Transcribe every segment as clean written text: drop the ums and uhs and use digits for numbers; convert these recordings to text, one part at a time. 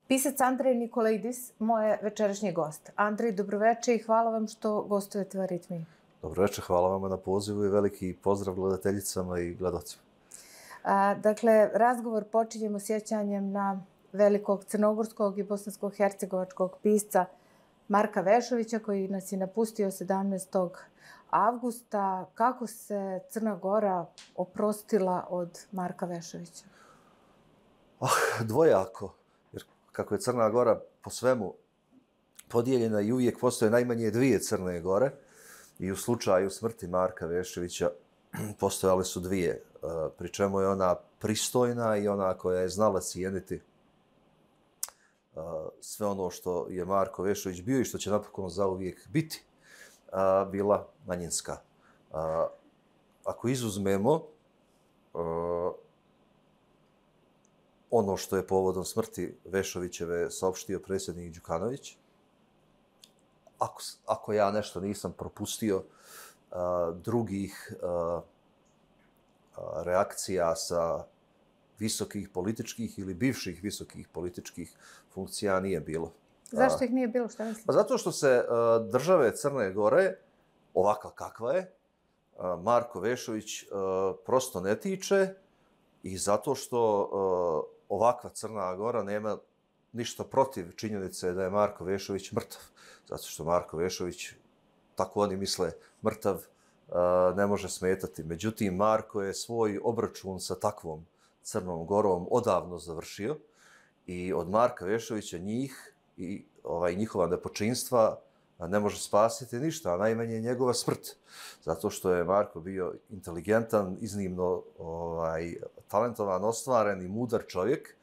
Pisac Andrej Nikolaidis, moj je večerašnji gost. Andrej, dobroveče i hvala vam što gostujete u Aritmiji. Dobroveče, hvala vam na pozivu i veliki pozdrav gledateljicama i gledalcima. Dakle, razgovor počinjemo sjećanjem na velikog crnogorskog i bosansko-hercegovačkog pisca Marka Vešovića, koji nas je napustio 17. avgusta. Kako se Crna Gora oprostila od Marka Vešovića? Dvojako, jer kako je Crna Gora po svemu podijeljena i uvijek postoje najmanje dvije Crne Gore, i u slučaju smrti Marka Vešovića postojale su dvije, pri čemu je ona pristojna i ona koja je znala cijeniti sve ono što je Marko Vešović bio i što će napokon zauvijek biti, bila manjinska. Ako izuzmemo ono što je povodom smrti Vešovićeve saopštio predsjednik Đukanović, ako ja nešto nisam propustio, drugih reakcija sa visokih političkih ili bivših visokih političkih funkcija nije bilo. Zašto ih nije bilo? Šta mislite? Pa zato što se države Crne Gore, ovakva kakva je, Marko Vešović prosto ne tiče, i zato što ovakva Crna Gora nema ništa protiv činjenice da je Marko Vešović mrtav. Zato što Marko Vešović, tako oni misle, mrtav ne može smetati. Međutim, Marko je svoj obračun sa takvom Crnom Gorom odavno završio i od Marka Vešovića njih i njihova nepočinstva ne može spasiti ništa, a najmanje njegova smrt. Zato što je Marko bio inteligentan, iznimno talentovan, ostvaren i mudar čovjek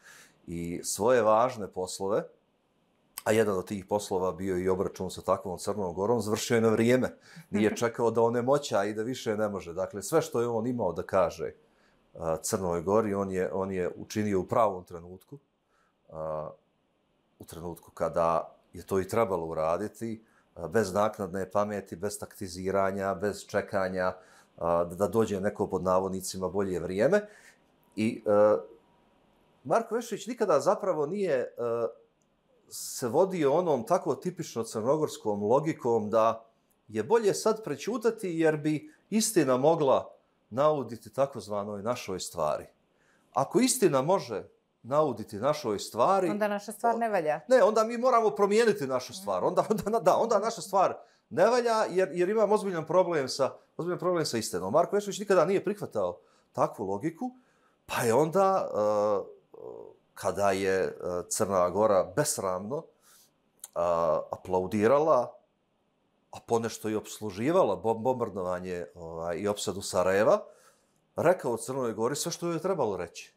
i svoje važne poslove, a jedan od tih poslova bio i obračun sa takvom Crnom Gorom, završio je na vrijeme. Nije čekao da onemoća i da više ne može. Dakle, sve što je on imao da kaže Crnoj Gori, on je učinio u pravom trenutku, u trenutku kada je to i trebalo uraditi, bez naknadne pameti, bez taktiziranja, bez čekanja da dođe neko pod navodnicima bolje vrijeme. I Marko Vešović nikada zapravo nije se vodio onom tako tipično crnogorskom logikom da je bolje sad prećutati jer bi istina mogla nauditi takozvanoj našoj stvari. Ako istina može nauditi našoj stvari... Onda naša stvar ne valja. Ne, onda mi moramo promijeniti našu stvar. Onda naša stvar ne valja jer imam ozbiljan problem sa istinom. Marko Vešović nikada nije prihvatao takvu logiku, pa je onda, kada je Crna Gora besramno aplaudirala, a ponešto i opsluživala bombardovanje i opsadu Sarajeva, rekao Crnoj Gori sve što joj je trebalo reći.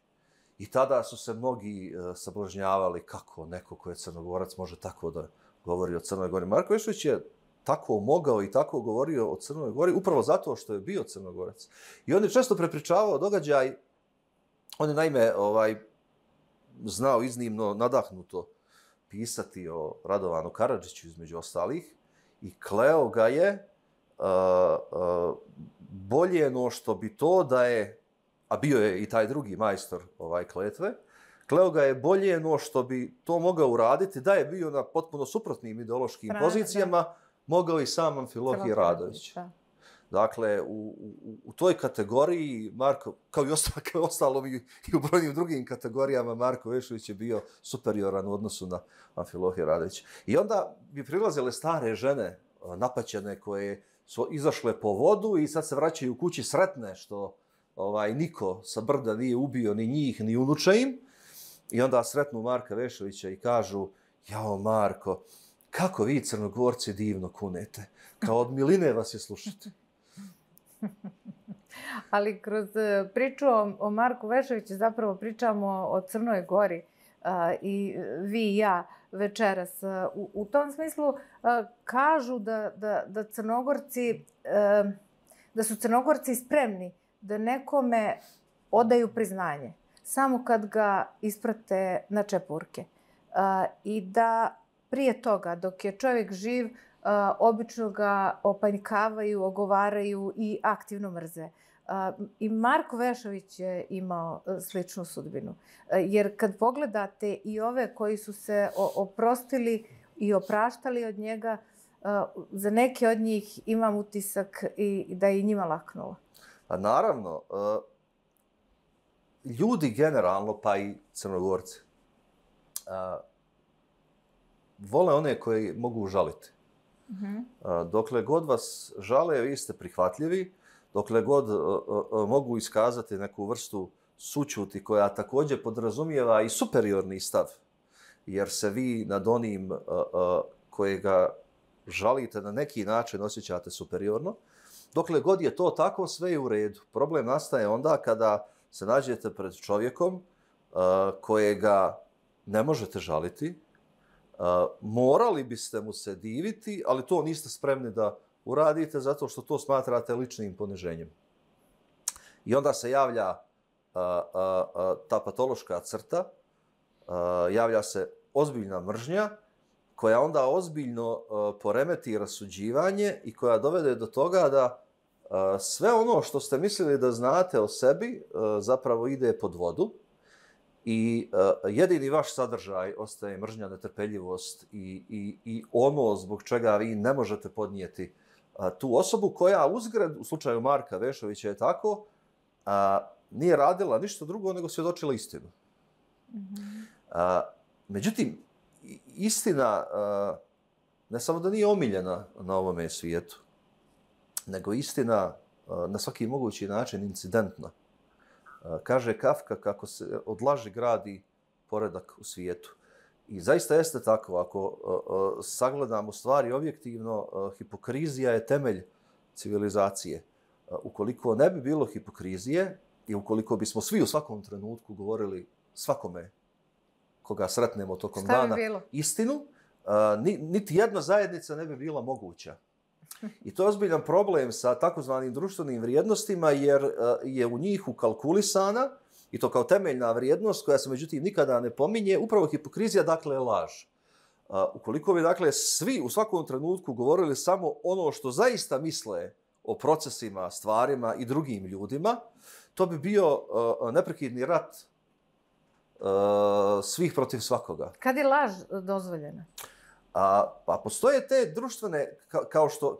I tada su se mnogi sablažnjavali kako neko ko je Crnogorac može tako da govori o Crnoj Gori. Marko Vešović je tako mogao i tako govorio o Crnoj Gori upravo zato što je bio Crnogorac. I on je često prepričavao događaj, on je naime znao iznimno nadahnuto pisati o Radovanu Karadžiću između ostalih i kleo ga je bolje no što bi to da je, a bio je i taj drugi majstor kletve, kleo ga je bolje no što bi to mogao uraditi da je bio na potpuno suprotnim ideološkim pozicijama, mogao i sam Amfilohije Radović. Dakle, u toj kategoriji Marko, kao i ostalo i u brojnim drugim kategorijama, Marko Vešović je bio superioran u odnosu na Amfilohije Radović. I onda bi prilazile stare žene, napaćene, koje su izašle po vodu i sad se vraćaju kući sretne što niko sa brda nije ubio ni njih, ni unuče im. I onda sretnu Marka Vešovića i kažu: jao Marko, kako vi Crnogorci divno kunete, kao od miline vas je slušati. Ali kroz priču o Marku Vešoviću zapravo pričamo o Crnoj Gori i vi i ja večeras. U tom smislu kažu da su Crnogorci spremni da nekome odaju priznanje samo kad ga isprate na čepurke. I da prije toga, dok je čovjek živ, obično ga opanjkavaju, ogovaraju i aktivno mrze. I Marko Vešović je imao sličnu sudbinu. Jer kad pogledate i ove koji su se oprostili i opraštali od njega, za neke od njih imam utisak i da je i njima laknulo. A naravno, ljudi generalno, pa i Crnogorci, vole one koji mogu žaliti. Dokle god vas žale, vi ste prihvatljivi. Dokle god mogu iskazati neku vrstu sućuti koja također podrazumijeva i superiorni stav, jer se vi nad onim kojega žalite na neki način osjećate superiorno. Dokle god je to tako, sve je u redu. Problem nastaje onda kada se nađete pred čovjekom kojega ne možete žaliti, morali biste mu se diviti, ali to niste spremni da uradite zato što to smatrate ličnim poniženjem. I onda se javlja ta patološka crta, javlja se ozbiljna mržnja koja onda ozbiljno poremeti rasuđivanje i koja dovede do toga da sve ono što ste mislili da znate o sebi zapravo ide pod vodu i jedini vaš sadržaj ostaje mržnja, netrpeljivost i ono zbog čega vi ne možete podnijeti tu osobu koja uzgred, u slučaju Marka Vešovića je tako, nije radila ništa drugo nego svjedočila istinu. Međutim, istina ne samo da nije omiljena na ovome svijetu, nego istina na svaki mogući način incidentna. Kaže Kafka kako se od laži gradi poredak u svijetu. I zaista jeste tako. Ako sagledamo stvari objektivno, hipokrizija je temelj civilizacije. Ukoliko ne bi bilo hipokrizije i ukoliko bismo svi u svakom trenutku govorili svakome koga sretnemo tokom dana istinu, niti jedna zajednica ne bi bila moguća. I to je ozbiljan problem sa takozvanim društvenim vrijednostima, jer je u njih ukalkulisana, i to kao temeljna vrijednost koja se međutim nikada ne pominje, upravo hipokrizija, dakle laž. Ukoliko bi dakle svi u svakom trenutku govorili samo ono što zaista misle o procesima, stvarima i drugim ljudima, to bi bio neprekidni rat svih protiv svakoga. Kad je laž dozvoljena? Pa postoje te društvene,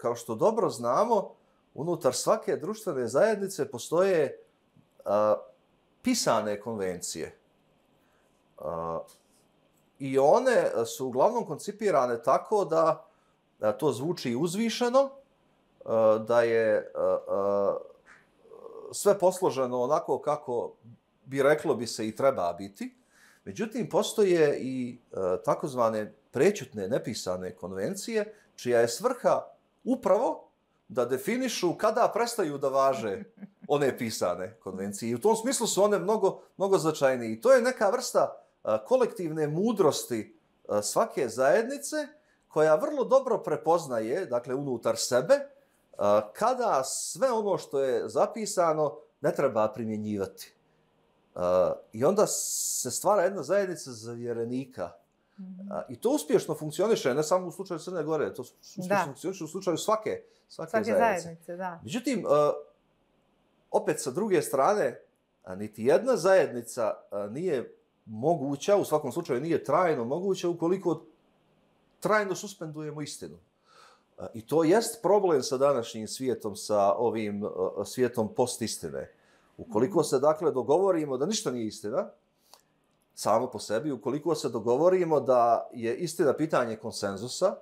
kao što dobro znamo, unutar svake društvene zajednice postoje pisane konvencije. I one su uglavnom koncipirane tako da to zvuči uzvišeno, da je sve posloženo onako kako reklo bi se i treba biti. Međutim, postoje i takozvane prećutne, nepisane konvencije, čija je svrha upravo da definišu kada prestaju da važe one pisane konvencije. I u tom smislu su one mnogo značajnije. I to je neka vrsta kolektivne mudrosti svake zajednice koja vrlo dobro prepoznaje, dakle, unutar sebe, kada sve ono što je zapisano ne treba primjenjivati. I onda se stvara jedna zajednica zavjerenika. I to uspješno funkcioniše, ne samo u slučaju Crne Gore, to uspješno funkcioniše u slučaju svake zajednice. Da. Međutim, opet sa druge strane, niti jedna zajednica nije moguća, u svakom slučaju nije trajno moguća, ukoliko trajno suspendujemo istinu. I to jest problem sa današnjim svijetom, sa ovim svijetom postistine. Ukoliko se, dakle, dogovorimo da ništa nije istina, samo po sebi, ukoliko se dogovorimo da je istina pitanje konsenzusa,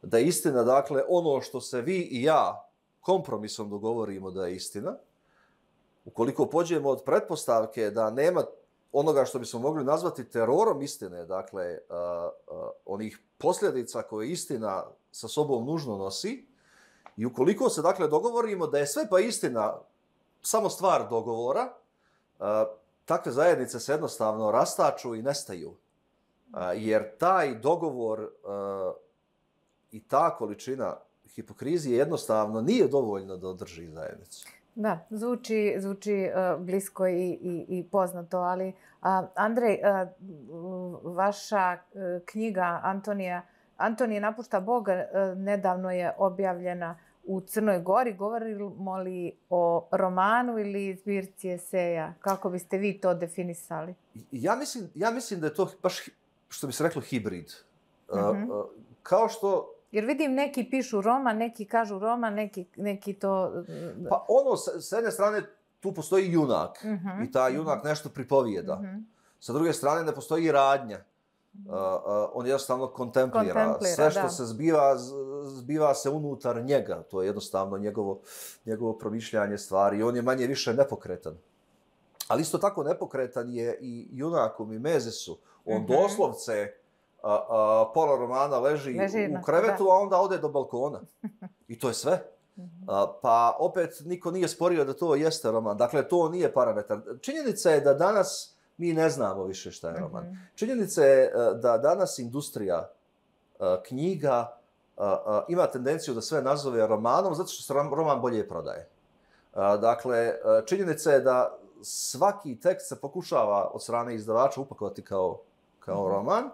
da je istina, dakle, ono što se vi i ja kompromisom dogovorimo da je istina, ukoliko pođemo od pretpostavke da nema onoga što bismo mogli nazvati terorom istine, dakle, onih posljedica koje istina sa sobom nužno nosi, i ukoliko se, dakle, dogovorimo da je sve pa istina samo stvar dogovora, takve zajednice se jednostavno rastaču i nestaju. Jer taj dogovor i ta količina hipokrizije jednostavno nije dovoljna da održi zajednicu. Da, zvuči blisko i poznato, ali Andrej, vaša knjiga Antonije napušta Boga nedavno je objavljena u Crnoj Gori? Govorimo li o romanu ili zbirci eseja? Kako biste vi to definisali? Ja mislim da je to baš, što bi se reklo, hibrid. Kao što... Jer vidim, neki pišu roman, neki kažu roman, neki to... Pa ono, s jedne strane, tu postoji junak. I ta junak nešto pripovijeda. Sa druge strane, ne postoji radnja. On jednostavno kontemplira. Sve što se zbiva se unutar njega. To je jednostavno njegovo promišljanje stvari. I on je manje više nepokretan. Ali isto tako nepokretan je i junak u Mimezisu. On doslovce pola romana leži u krevetu, a onda ode do balkona. I to je sve. Pa opet niko nije sporio da to jeste roman. Dakle, to nije parametar. Činjenica je da danas mi ne znamo više šta je roman. Činjenica je da danas industrija knjiga ima tendenciju da sve nazove romanom zato što se roman bolje prodaje. Dakle, činjenica je da svaki tekst se pokušava od strane izdavača upakovati kao roman.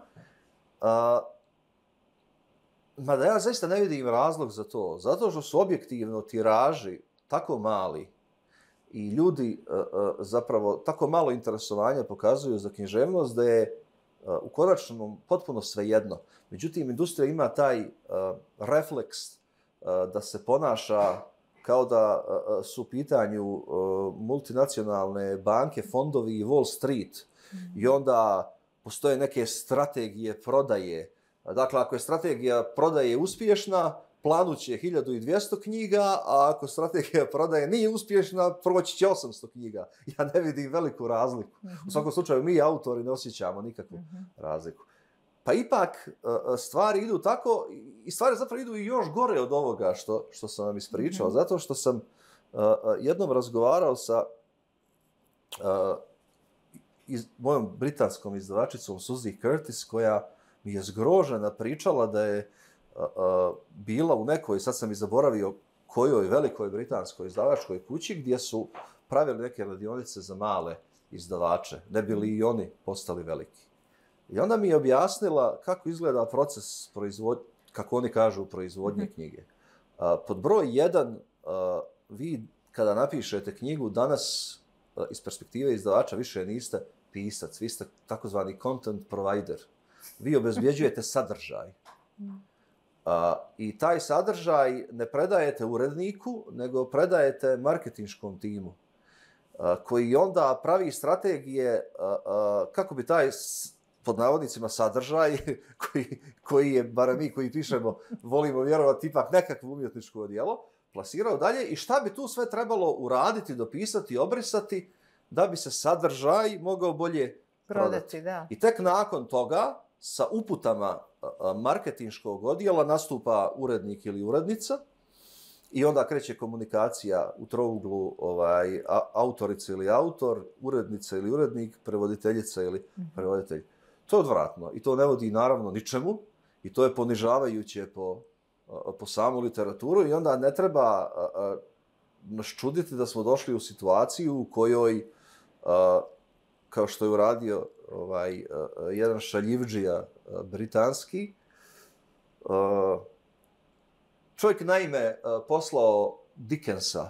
Mada ja zaista ne vidim razlog za to. Zato što su objektivno tiraži tako mali i ljudi zapravo tako malo interesovanja pokazuju za književnost da je u konačnom potpuno svejedno. Međutim, industrija ima taj refleks da se ponaša kao da su u pitanju multinacionalne banke, fondovi i Wall Street. I onda postoje neke strategije prodaje. Dakle, ako je strategija prodaje uspješna, planuće 1200 knjiga, a ako strategija prodaje nije uspješna, proći će 800 knjiga. Ja ne vidim veliku razliku. U svakom slučaju, mi autori ne osjećamo nikakvu razliku. Pa ipak stvari idu tako, i stvari zapravo idu i još gore od ovoga što sam vam ispričao, zato što sam jednom razgovarao sa mojom britanskom izdavačicom Suzy Curtis, koja mi je zgrožena pričala da je bila u nekoj, sad sam i zaboravio kojoj velikoj britanskoj izdavačkoj kući, gdje su pravili neke radionice za male izdavače, ne bi li i oni postali veliki. I onda mi je objasnila kako izgleda proces kako oni kažu, proizvodnje knjige. Pod broj 1, vi kada napišete knjigu, danas iz perspektive izdavača više niste pisac, vi ste takozvani content provider. Vi obezbjeđujete sadržaj. I taj sadržaj ne predajete uredniku, nego predajete marketinškom timu, koji onda pravi strategije kako bi taj, pod navodnicima, sadržaj, koji je, barem mi koji pišemo, volimo vjerovati ipak nekakvo umjetničko djelo, plasirao dalje i šta bi tu sve trebalo uraditi, dopisati, obrisati, da bi se sadržaj mogao bolje prodati. Da. I tek nakon toga, sa uputama marketinškog odjela, nastupa urednik ili urednica i onda kreće komunikacija u trouglu autorica ili autor, urednica ili urednik, prevoditeljica ili prevoditelj. To je odvratno i to ne vodi naravno ničemu i to je ponižavajuće po samu literaturu i onda ne treba nas čuditi da smo došli u situaciju u kojoj, kao što je uradio jedan šaljivdžija britanski, čovjek naime poslao Dickensa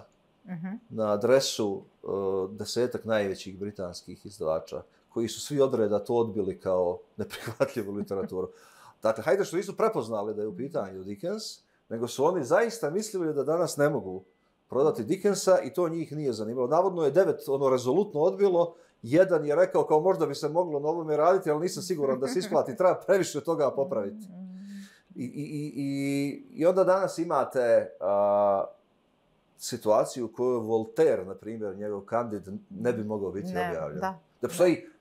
na adresu 10 najvećih britanskih izdavača, koji su svi odreda to odbili kao neprihvatljivu literaturu. Dakle, hajde što nisu prepoznali da je u pitanju Dickens, nego su oni zaista mislili da danas ne mogu prodati Dickensa i to njih nije zanimalo. Navodno je 9 rezolutno odbilo, jedan je rekao kao možda bi se moglo na ovome raditi, ali nisam siguran da se isplati, treba previše toga popraviti. I onda danas imate situaciju u kojoj Voltaire, na primjer, njegov Candide, ne bi mogao biti objavljen.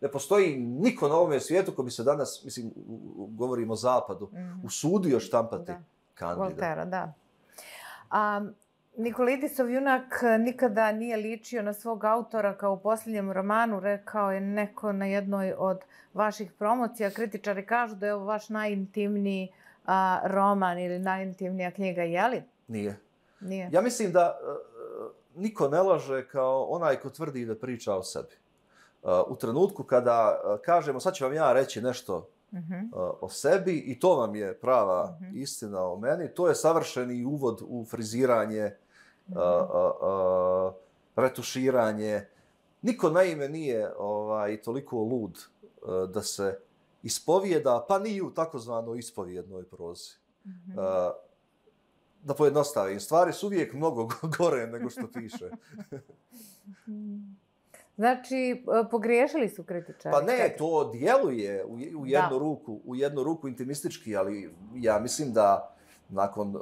Ne postoji niko na ovome svijetu ko bi se danas, mislim, govorimo o Zapadu, usudio štampati Candida. Voltaire, da. Nikolidisov junak nikada nije ličio na svog autora, kao u posljednjem romanu, rekao je neko na jednoj od vaših promocija. Kritičari kažu da je ovo vaš najintimniji roman ili najintimnija knjiga, je li? Nije. Ja mislim da niko ne laže kao onaj ko tvrdi da priča o sebi. U trenutku kada kažemo, sad ću vam ja reći nešto o sebi i to vam je prava istina o meni. To je savršeni uvod u friziranje, retuširanje. Niko naime nije toliko lud da se ispovijeda, pa ni u takozvanoj ispovjednoj prozi. Da pojednostavim, stvari su uvijek mnogo gore nego što piše. Znači, pogriješili su kritičari? Pa ne, to djeluje u jednu ruku intimistički, ali ja mislim da nakon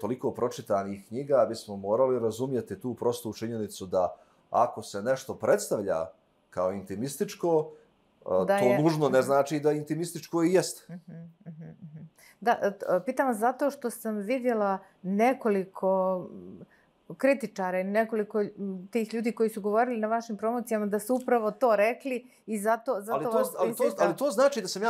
toliko pročitanih knjiga bismo morali razumjeti tu prostu činjenicu da ako se nešto predstavlja kao intimističko, to nužno ne znači da intimističko i jest. Da, pitam vas zato što sam vidjela nekoliko kritičara i nekoliko tih ljudi koji su govorili na vašim promocijama da su upravo to rekli i zato vas insistam. Ali to znači da sam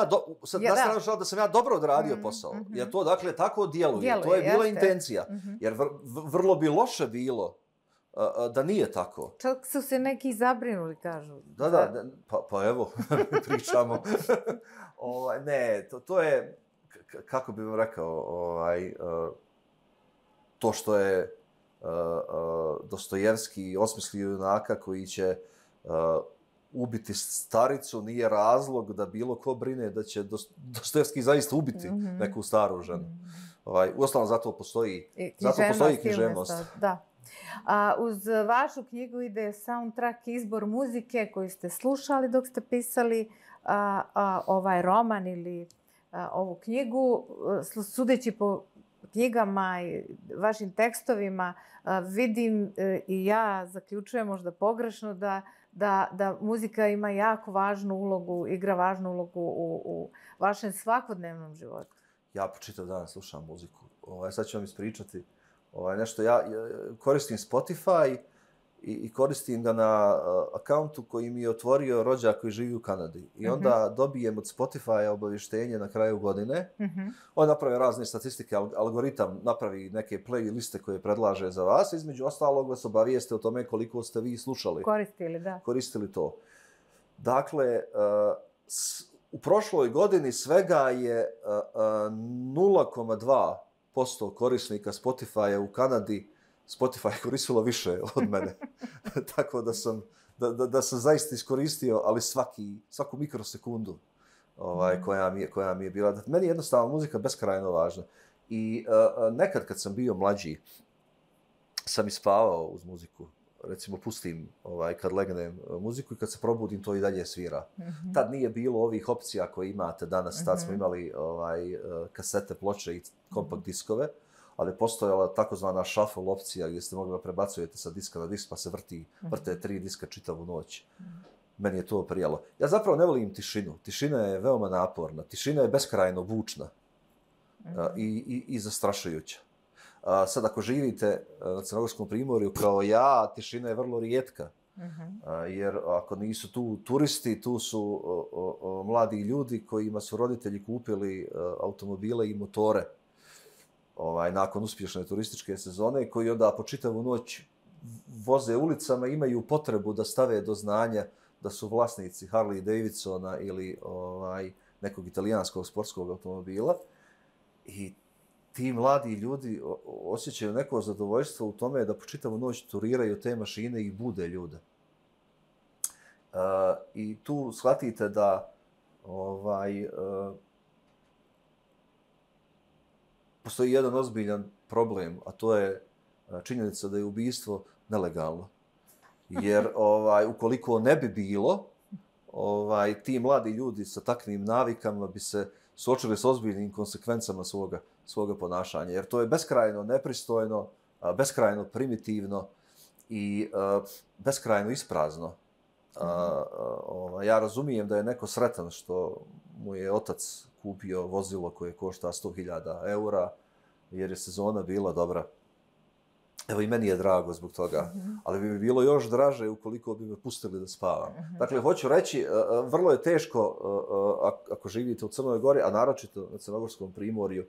da sam ja dobro odradio posao. Jer to dakle tako djeluje. To je bila intencija. Jer vrlo bi loše bilo da nije tako. Čak su se neki zabrinuli, kažu. Da, pa evo, pričamo. Ne, to je, kako bih vam rekao, to što je Dostojevski osmislio junaka koji će ubiti staricu nije razlog da bilo ko brine da će Dostojevski zaista ubiti neku staru ženu. Uostalom, zato postoji književnost. Da. Uz vašu knjigu ide soundtrack, izbor muzike koju ste slušali dok ste pisali ovaj roman ili ovu knjigu. Sudeći po knjigama i vašim tekstovima vidim i ja zaključujem možda pogrešno da muzika ima jako važnu ulogu, igra važnu ulogu u vašem svakodnevnom životu. Ja po čitav dan slušam muziku. Sad ću vam ispričati nešto. Ja koristim Spotify i koristim ga na akauntu koji mi je otvorio rođak koji živi u Kanadi. I onda dobijem od Spotify obavještenje na kraju godine. On napravi razne statistike, algoritam napravi neke playliste koje predlaže za vas. Između ostalog vas obavijeste o tome koliko ste vi slušali. Koristili to. Dakle, u prošloj godini svega je 0,2% korisnika Spotify-a u Kanadi Spotify koristilo više od mene. Tako da sam zaista iskoristio, ali svaku mikrosekundu koja mi je bila. Meni je jednostavno muzika beskrajno važna. I nekad kad sam bio mlađi, sam ispavao uz muziku. Recimo, pustim kad legnem muziku i kad se probudim, to i dalje svira. Tad nije bilo ovih opcija koje imate danas. Tad smo imali kasete, ploče i kompakt diskove, ali postojala takozvana shuffle opcija gdje ste mogli da prebacujete sa diska na disk pa se vrte 3 diska čitavu noć. Meni je to prijalo. Ja zapravo ne volim tišinu. Tišina je veoma naporna. Tišina je beskrajno bučna i zastrašujuća. Sad ako živite na Crnogorskom primorju kao ja, tišina je vrlo rijetka. Jer ako nisu tu turisti, tu su mladi ljudi kojima su roditelji kupili automobile i motore nakon uspješne turističke sezone, koji onda po čitavu noć voze ulicama, imaju potrebu da stave do znanja da su vlasnici Harley Davidsona ili nekog italijanskog sportskog automobila. I ti mladi ljudi osjećaju neko zadovoljstvo u tome da po čitavu noć turiraju te mašine i bude ljude. I tu shvatite da postoji jedan ozbiljan problem, a to je činjenica da je ubistvo nelegalno. Jer ukoliko ne bi bilo, ti mladi ljudi sa takvim navikama bi se suočili s ozbiljnim konsekvencama svoga ponašanja. Jer to je beskrajno nepristojno, beskrajno primitivno i beskrajno isprazno. Ja razumijem da je neko sretan što mu je otac kupio vozilo koje košta 100.000 eura, jer je sezona bila dobra. Evo i meni je drago zbog toga, ali bi mi bilo još draže ukoliko bi me pustili da spavam. Dakle, hoću reći, vrlo je teško ako živite u Crnoj Gori, a naročito na Crnogorskom primorju,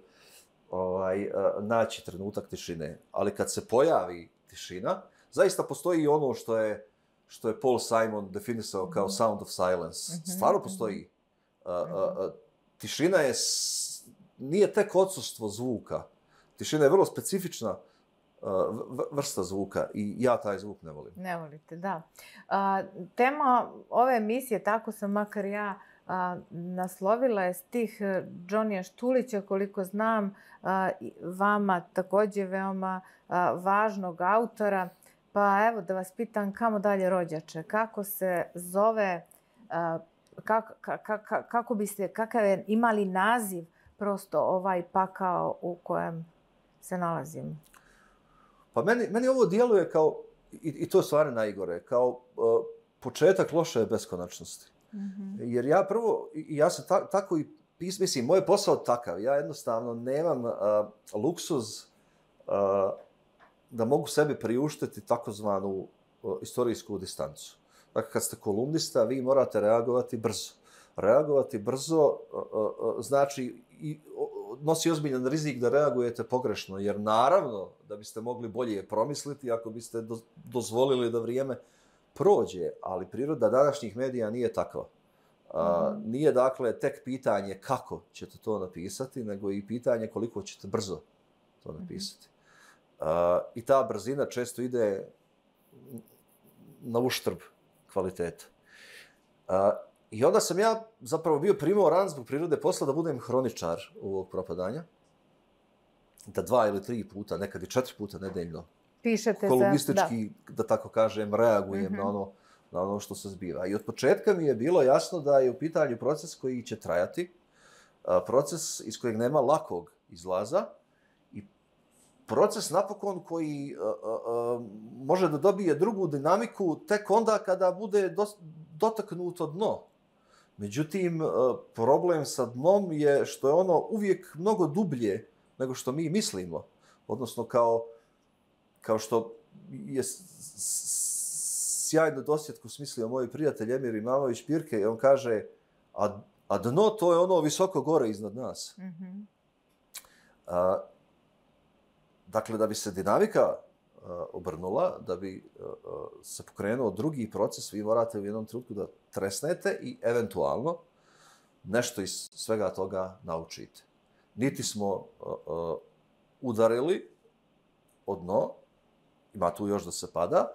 naći trenutak tišine. Ali kad se pojavi tišina, zaista postoji i ono što je Paul Simon definisao kao sound of silence. Stvarno postoji tišina nije tek odsustvo zvuka. Tišina je vrlo specifična vrsta zvuka i ja taj zvuk ne volim. Ne volite, da. Tema ove emisije, tako sam makar ja naslovila, je stih Džonija Štulića, koliko znam, vama također veoma važnog autora. Pa evo da vas pitam kamo dalje rođače, kako se zove, kakav je imali naziv prosto ovaj pakao u kojem se nalazimo? Pa meni ovo djeluje kao, i to je stvarno najgore, kao početak loše beskonačnosti. Jer ja sam tako i mislim, moj je posao takav, ja jednostavno nemam luksuz da mogu sebi priuštiti takozvanu istorijsku distancu. Dakle, kad ste kolumnista, vi morate reagovati brzo. Reagovati brzo znači nosi ozbiljan rizik da reagujete pogrešno, jer naravno da biste mogli bolje promisliti ako biste dozvolili da vrijeme prođe, ali priroda današnjih medija nije takva. Nije dakle tek pitanje kako ćete to napisati, nego i pitanje koliko ćete brzo to napisati. I ta brzina često ide na uštrb kvaliteta. I onda sam ja zapravo bio primoran zbog prirode posla da budem hroničar ovog propadanja. Da 2 ili 3 puta, nekad i 4 puta nedeljno pišete kolumnistički, da tako kažem, reagujem na ono što se zbiva. I od početka mi je bilo jasno da je u pitanju proces koji će trajati, proces iz kojeg nema lakog izlaza i proces napokon koji može da dobije drugu dinamiku tek onda kada bude dotaknuto dno. Međutim, problem sa dnom je što je ono uvijek mnogo dublje nego što mi mislimo. Odnosno, kao što je sjajno dosjetku smislio moj prijatelj Emir Imamović-Pirke, i on kaže, a dno to je ono visoko gore iznad nas. Dakle, da bi se dinamika obrnula, da bi se pokrenuo drugi proces, vi morate u jednom trenutku da tresnete i eventualno nešto iz svega toga naučite. Niti smo udarili od dno, ima tu još da se pada,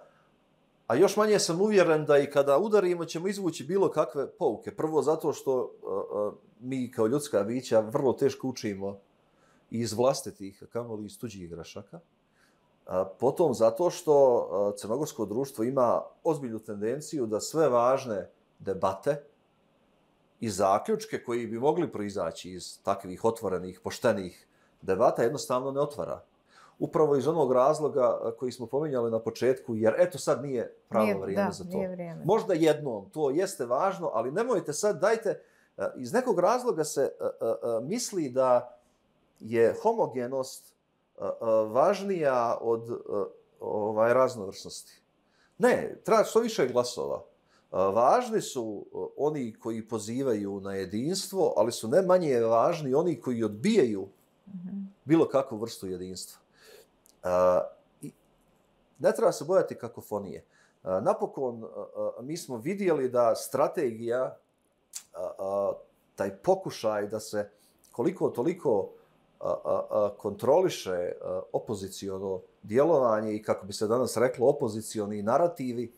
a još manje sam uvjeren da i kada udarimo ćemo izvući bilo kakve pouke. Prvo zato što mi kao ljudska bića vrlo teško učimo iz vlastitih, kamoli iz tuđih grešaka. Potom zato što crnogorsko društvo ima ozbiljnu tendenciju da sve važne debate i zaključke koji bi mogli proizaći iz takvih otvorenih, poštenih debata jednostavno ne otvara. Upravo iz onog razloga koji smo pominjali na početku, jer eto sad nije pravo vrijeme za to. Možda jednom, to jeste važno, ali nemojte sad, dajte, iz nekog razloga se misli da je homogenost važnija od raznovrsnosti. Ne, treba što više glasova. Važni su oni koji pozivaju na jedinstvo, ali su ne manje važni oni koji odbijaju bilo kakvu vrstu jedinstva. Ne treba se bojati kakofonije. Napokon, mi smo vidjeli da strategija, taj pokušaj da se koliko toliko kontroliše opoziciono djelovanje i, kako bi se danas reklo, opozicioni narativi,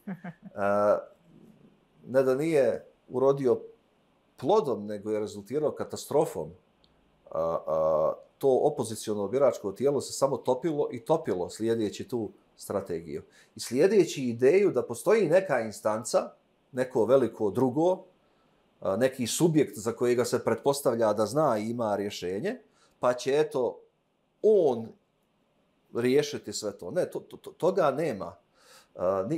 ne da nije urodio plodom, nego je rezultirao katastrofom. To opoziciono biračko tijelo se samo topilo i topilo slijedeći tu strategiju. I slijedeći ideju da postoji neka instanca, neko veliko drugo, neki subjekt za kojega se pretpostavlja da zna i ima rješenje, pa će eto on riješiti sve to. Ne, toga nema.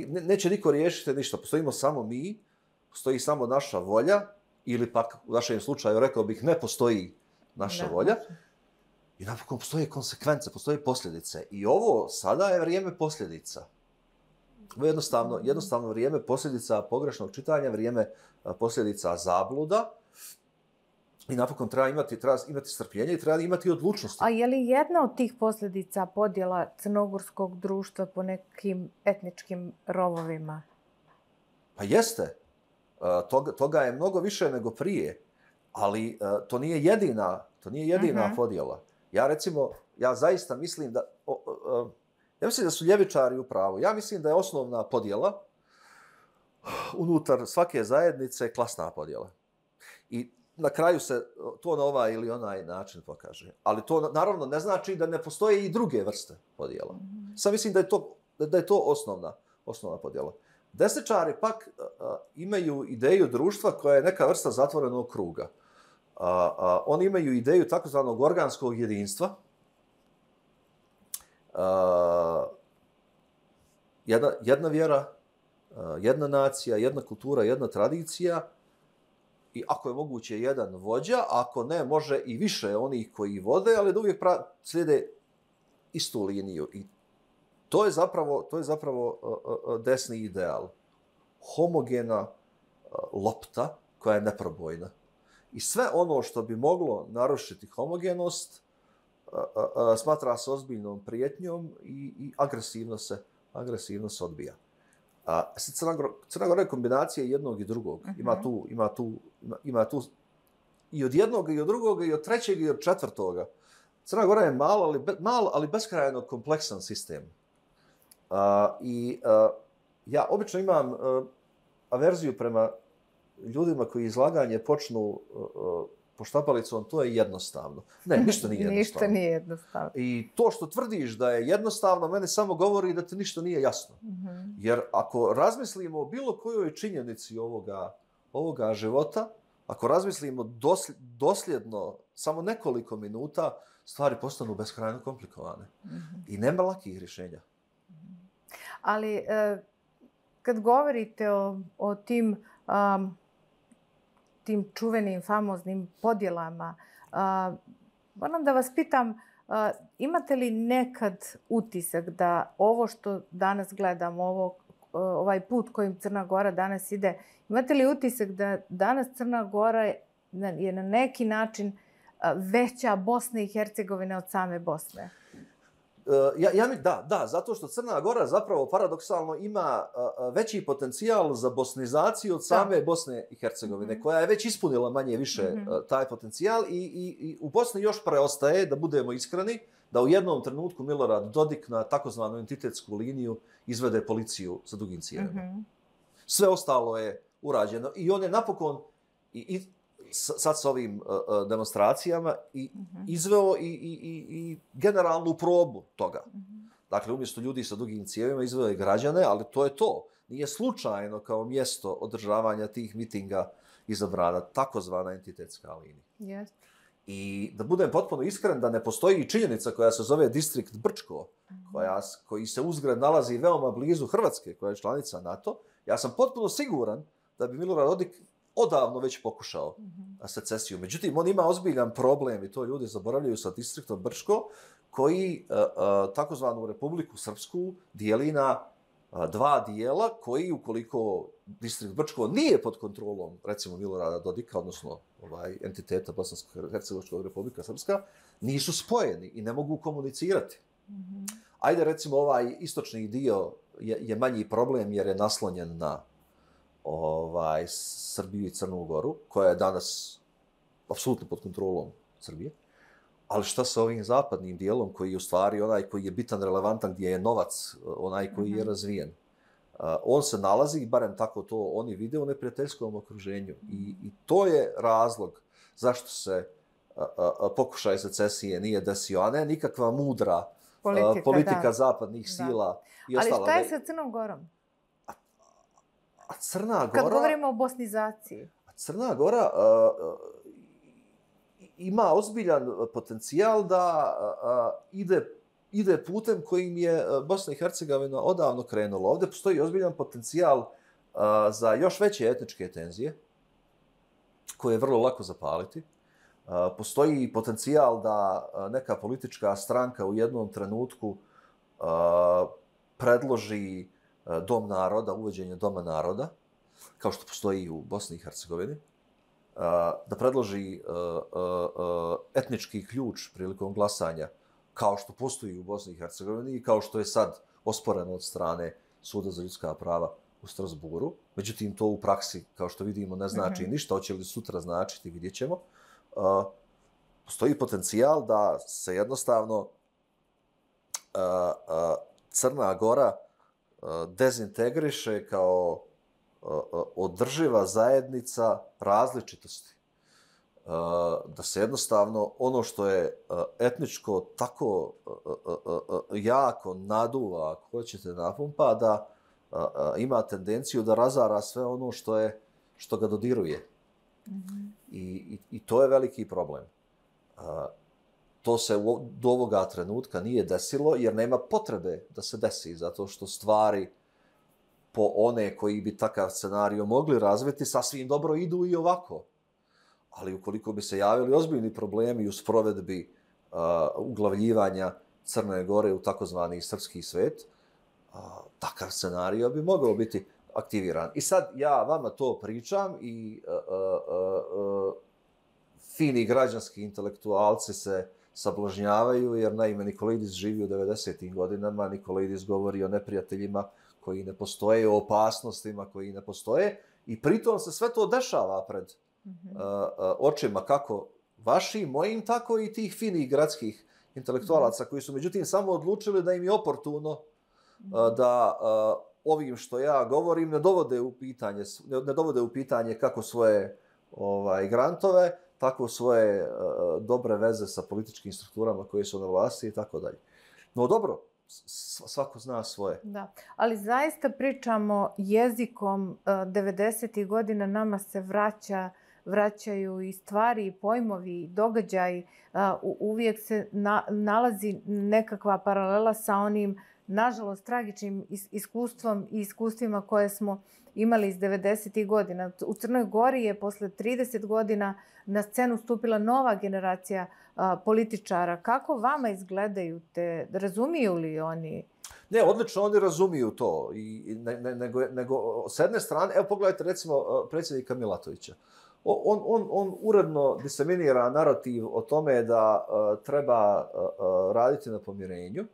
Neće niko riješiti ništa. Postojimo samo mi, postoji samo naša volja, ili pak u našem slučaju rekao bih ne postoji naša volja. I napokon postoje konsekvence, postoje posljedice. I ovo sada je vrijeme posljedica. Ovo je jednostavno vrijeme posljedica pogrešnog čitanja, vrijeme posljedica zabluda. I napokon treba imati strpljenje i treba imati odlučnosti. A je li jedna od tih posljedica podjela crnogorskog društva po nekim etničkim rovovima? Pa jeste. Toga je mnogo više nego prije. Ali to nije jedina podjela. Ja zaista mislim ja mislim da su ljevičari u pravu. Ja mislim da je osnovna podjela unutar svake zajednice klasna podjela. I na kraju se to na ovaj ili onaj način pokaže. Ali to naravno ne znači da ne postoje i druge vrste podjela. Sad mislim da je to osnovna podjela. Desničari pak imaju ideju društva koja je neka vrsta zatvorenog kruga. Oni imaju ideju takozvanog organskog jedinstva. Jedna vjera, jedna nacija, jedna kultura, jedna tradicija i ako je moguće jedan vođa, ako ne, može i više onih koji vode, ali da uvijek slijede istu liniju. I to je zapravo desni ideal. Homogena lopta koja je neprobojna. I sve ono što bi moglo narušiti homogenost smatra se ozbiljnom prijetnjom i agresivno se odbija. Crna Gora je kombinacija jednog i drugog. Ima tu i od jednog i od drugog i od trećeg i od četvrtoga. Crna Gora je mal, ali beskrajno kompleksan sistem. Ja obično imam averziju prema ljudima koji izlaganje počnu poštapalicom, to je jednostavno. Ne, ništa nije jednostavno. Ništa nije jednostavno. I to što tvrdiš da je jednostavno, mene samo govori da ti ništa nije jasno. Jer ako razmislimo o bilo kojoj činjenici ovoga života, ako razmislimo dosljedno samo nekoliko minuta, stvari postanu beskrajno komplikovane. I nema lakih rješenja. Ali kad govorite o tim čuvenim, famoznim podjelama, moram da vas pitam, imate li nekad utisak da ovo što danas gledamo, ovaj put kojim Crna Gora danas ide, imate li utisak da danas Crna Gora je na neki način veća Bosna i Hercegovina od same Bosne? Da, zato što Crna Gora zapravo paradoksalno ima veći potencijal za bosnizaciju od same Bosne i Hercegovine, koja je već ispunila manje više taj potencijal i u Bosni još preostaje, da budemo iskreni, da u jednom trenutku Milorad Dodik na takozvanu entitetsku liniju izvede policiju sa dugim cijevima. Sve ostalo je urađeno i on je napokon sad sa ovim demonstracijama izveo i generalnu probu toga. Dakle, umjesto ljudi sa dugim cijevima izveo je građane, ali to je to. Nije slučajno kao mjesto održavanja tih mitinga izabrana takozvana entitetska linija. Yes. I da budem potpuno iskren, da ne postoji činjenica koja se zove Distrikt Brčko, koji se uzgred nalazi veoma blizu Hrvatske, koja je članica NATO, ja sam potpuno siguran da bi Milorad Dodik odavno već pokušao secesiju. Međutim, on ima ozbiljan problem, i to ljudi zaboravljaju, sa Distriktom Brčko, koji takozvanu Republiku Srpsku dijeli na dva dijela, koji, ukoliko Distrikt Brčko nije pod kontrolom, recimo, Milorada Dodika, odnosno entiteta Bosansko-Hercegovačkog Republika Srpska, nisu spojeni i ne mogu komunicirati. Ajde, recimo, ovaj istočni dio je manji problem jer je naslonjen na Srbiju i Crnu Goru, koja je danas apsolutno pod kontrolom Srbije. Ali šta sa ovim zapadnim dijelom, koji je u stvari onaj koji je bitan, relevantan, gdje je novac, onaj koji je razvijen? On se nalazi, barem tako to oni vide, u neprijateljskom okruženju. I to je razlog zašto se pokušaj secesije nije desio, a ne nikakva mudra politika zapadnih sila i ostala. Ali šta je sa Crnom Gorom? A Crna Gora... Kad govorimo o bosnizaciji. Crna Gora ima ozbiljan potencijal da ide putem kojim je Bosna i Hercegovina odavno krenula. Ovdje postoji ozbiljan potencijal za još veće etničke tenzije, koje je vrlo lako zapaliti. Postoji potencijal da neka politička stranka u jednom trenutku predloži Dom naroda, uvođenje Doma naroda, kao što postoji u Bosni i Hercegovini, da predloži etnički ključ prilikom glasanja, kao što postoji u Bosni i Hercegovini i kao što je sad osporeno od strane Suda za ljudska prava u Strasburu. Međutim, to u praksi, kao što vidimo, ne znači ništa. Hoće li sutra značiti, vidjet ćemo. Postoji potencijal da se jednostavno Crna Gora dezintegriše kao održiva zajednica različitosti. Da se jednostavno ono što je etničko tako jako naduva, ako hoćete, napumpa, da ima tendenciju da razara sve ono što ga dodiruje. I to je veliki problem. To se do ovoga trenutka nije desilo jer nema potrebe da se desi, zato što stvari po one koji bi takav scenario mogli razviti sasvim dobro idu i ovako. Ali ukoliko bi se javili ozbiljni problemi u sprovedbi uglavljivanja Crne Gore u takozvani srpski svet, takav scenario bi mogao biti aktiviran. I sad ja vama to pričam i fini građanski intelektualci se sablažnjavaju, jer naime Nikolaidis živi u 90. godinama, Nikolaidis govori o neprijateljima koji ne postoje, o opasnostima koji ne postoje, i pritom se sve to dešava pred očima kako vašim, mojim, tako i tih finih gradskih intelektualaca koji su međutim samo odlučili da im je oportuno da ovim što ja govorim ne dovode u pitanje kako svoje grantove, tako svoje dobre veze sa političkim strukturama koje su na vlasti i tako dalje. No dobro, svako zna svoje. Da, ali zaista pričamo jezikom 90. godina, nama se vraćaju i stvari, i pojmovi, i događaji. Uvijek se nalazi nekakva paralela sa onim, nažalost, tragičnim iskustvom i iskustvima koje smo imali iz 90. godina. U Crnoj Gori je posle 30 godina na scenu stupila nova generacija političara. Kako vama izgledaju te? Razumiju li oni? Ne, odlično oni razumiju to. Nego, s jedne strane, evo pogledajte recimo predsjednika Milatovića. On uredno diseminira narativ o tome da treba raditi na pomirenju,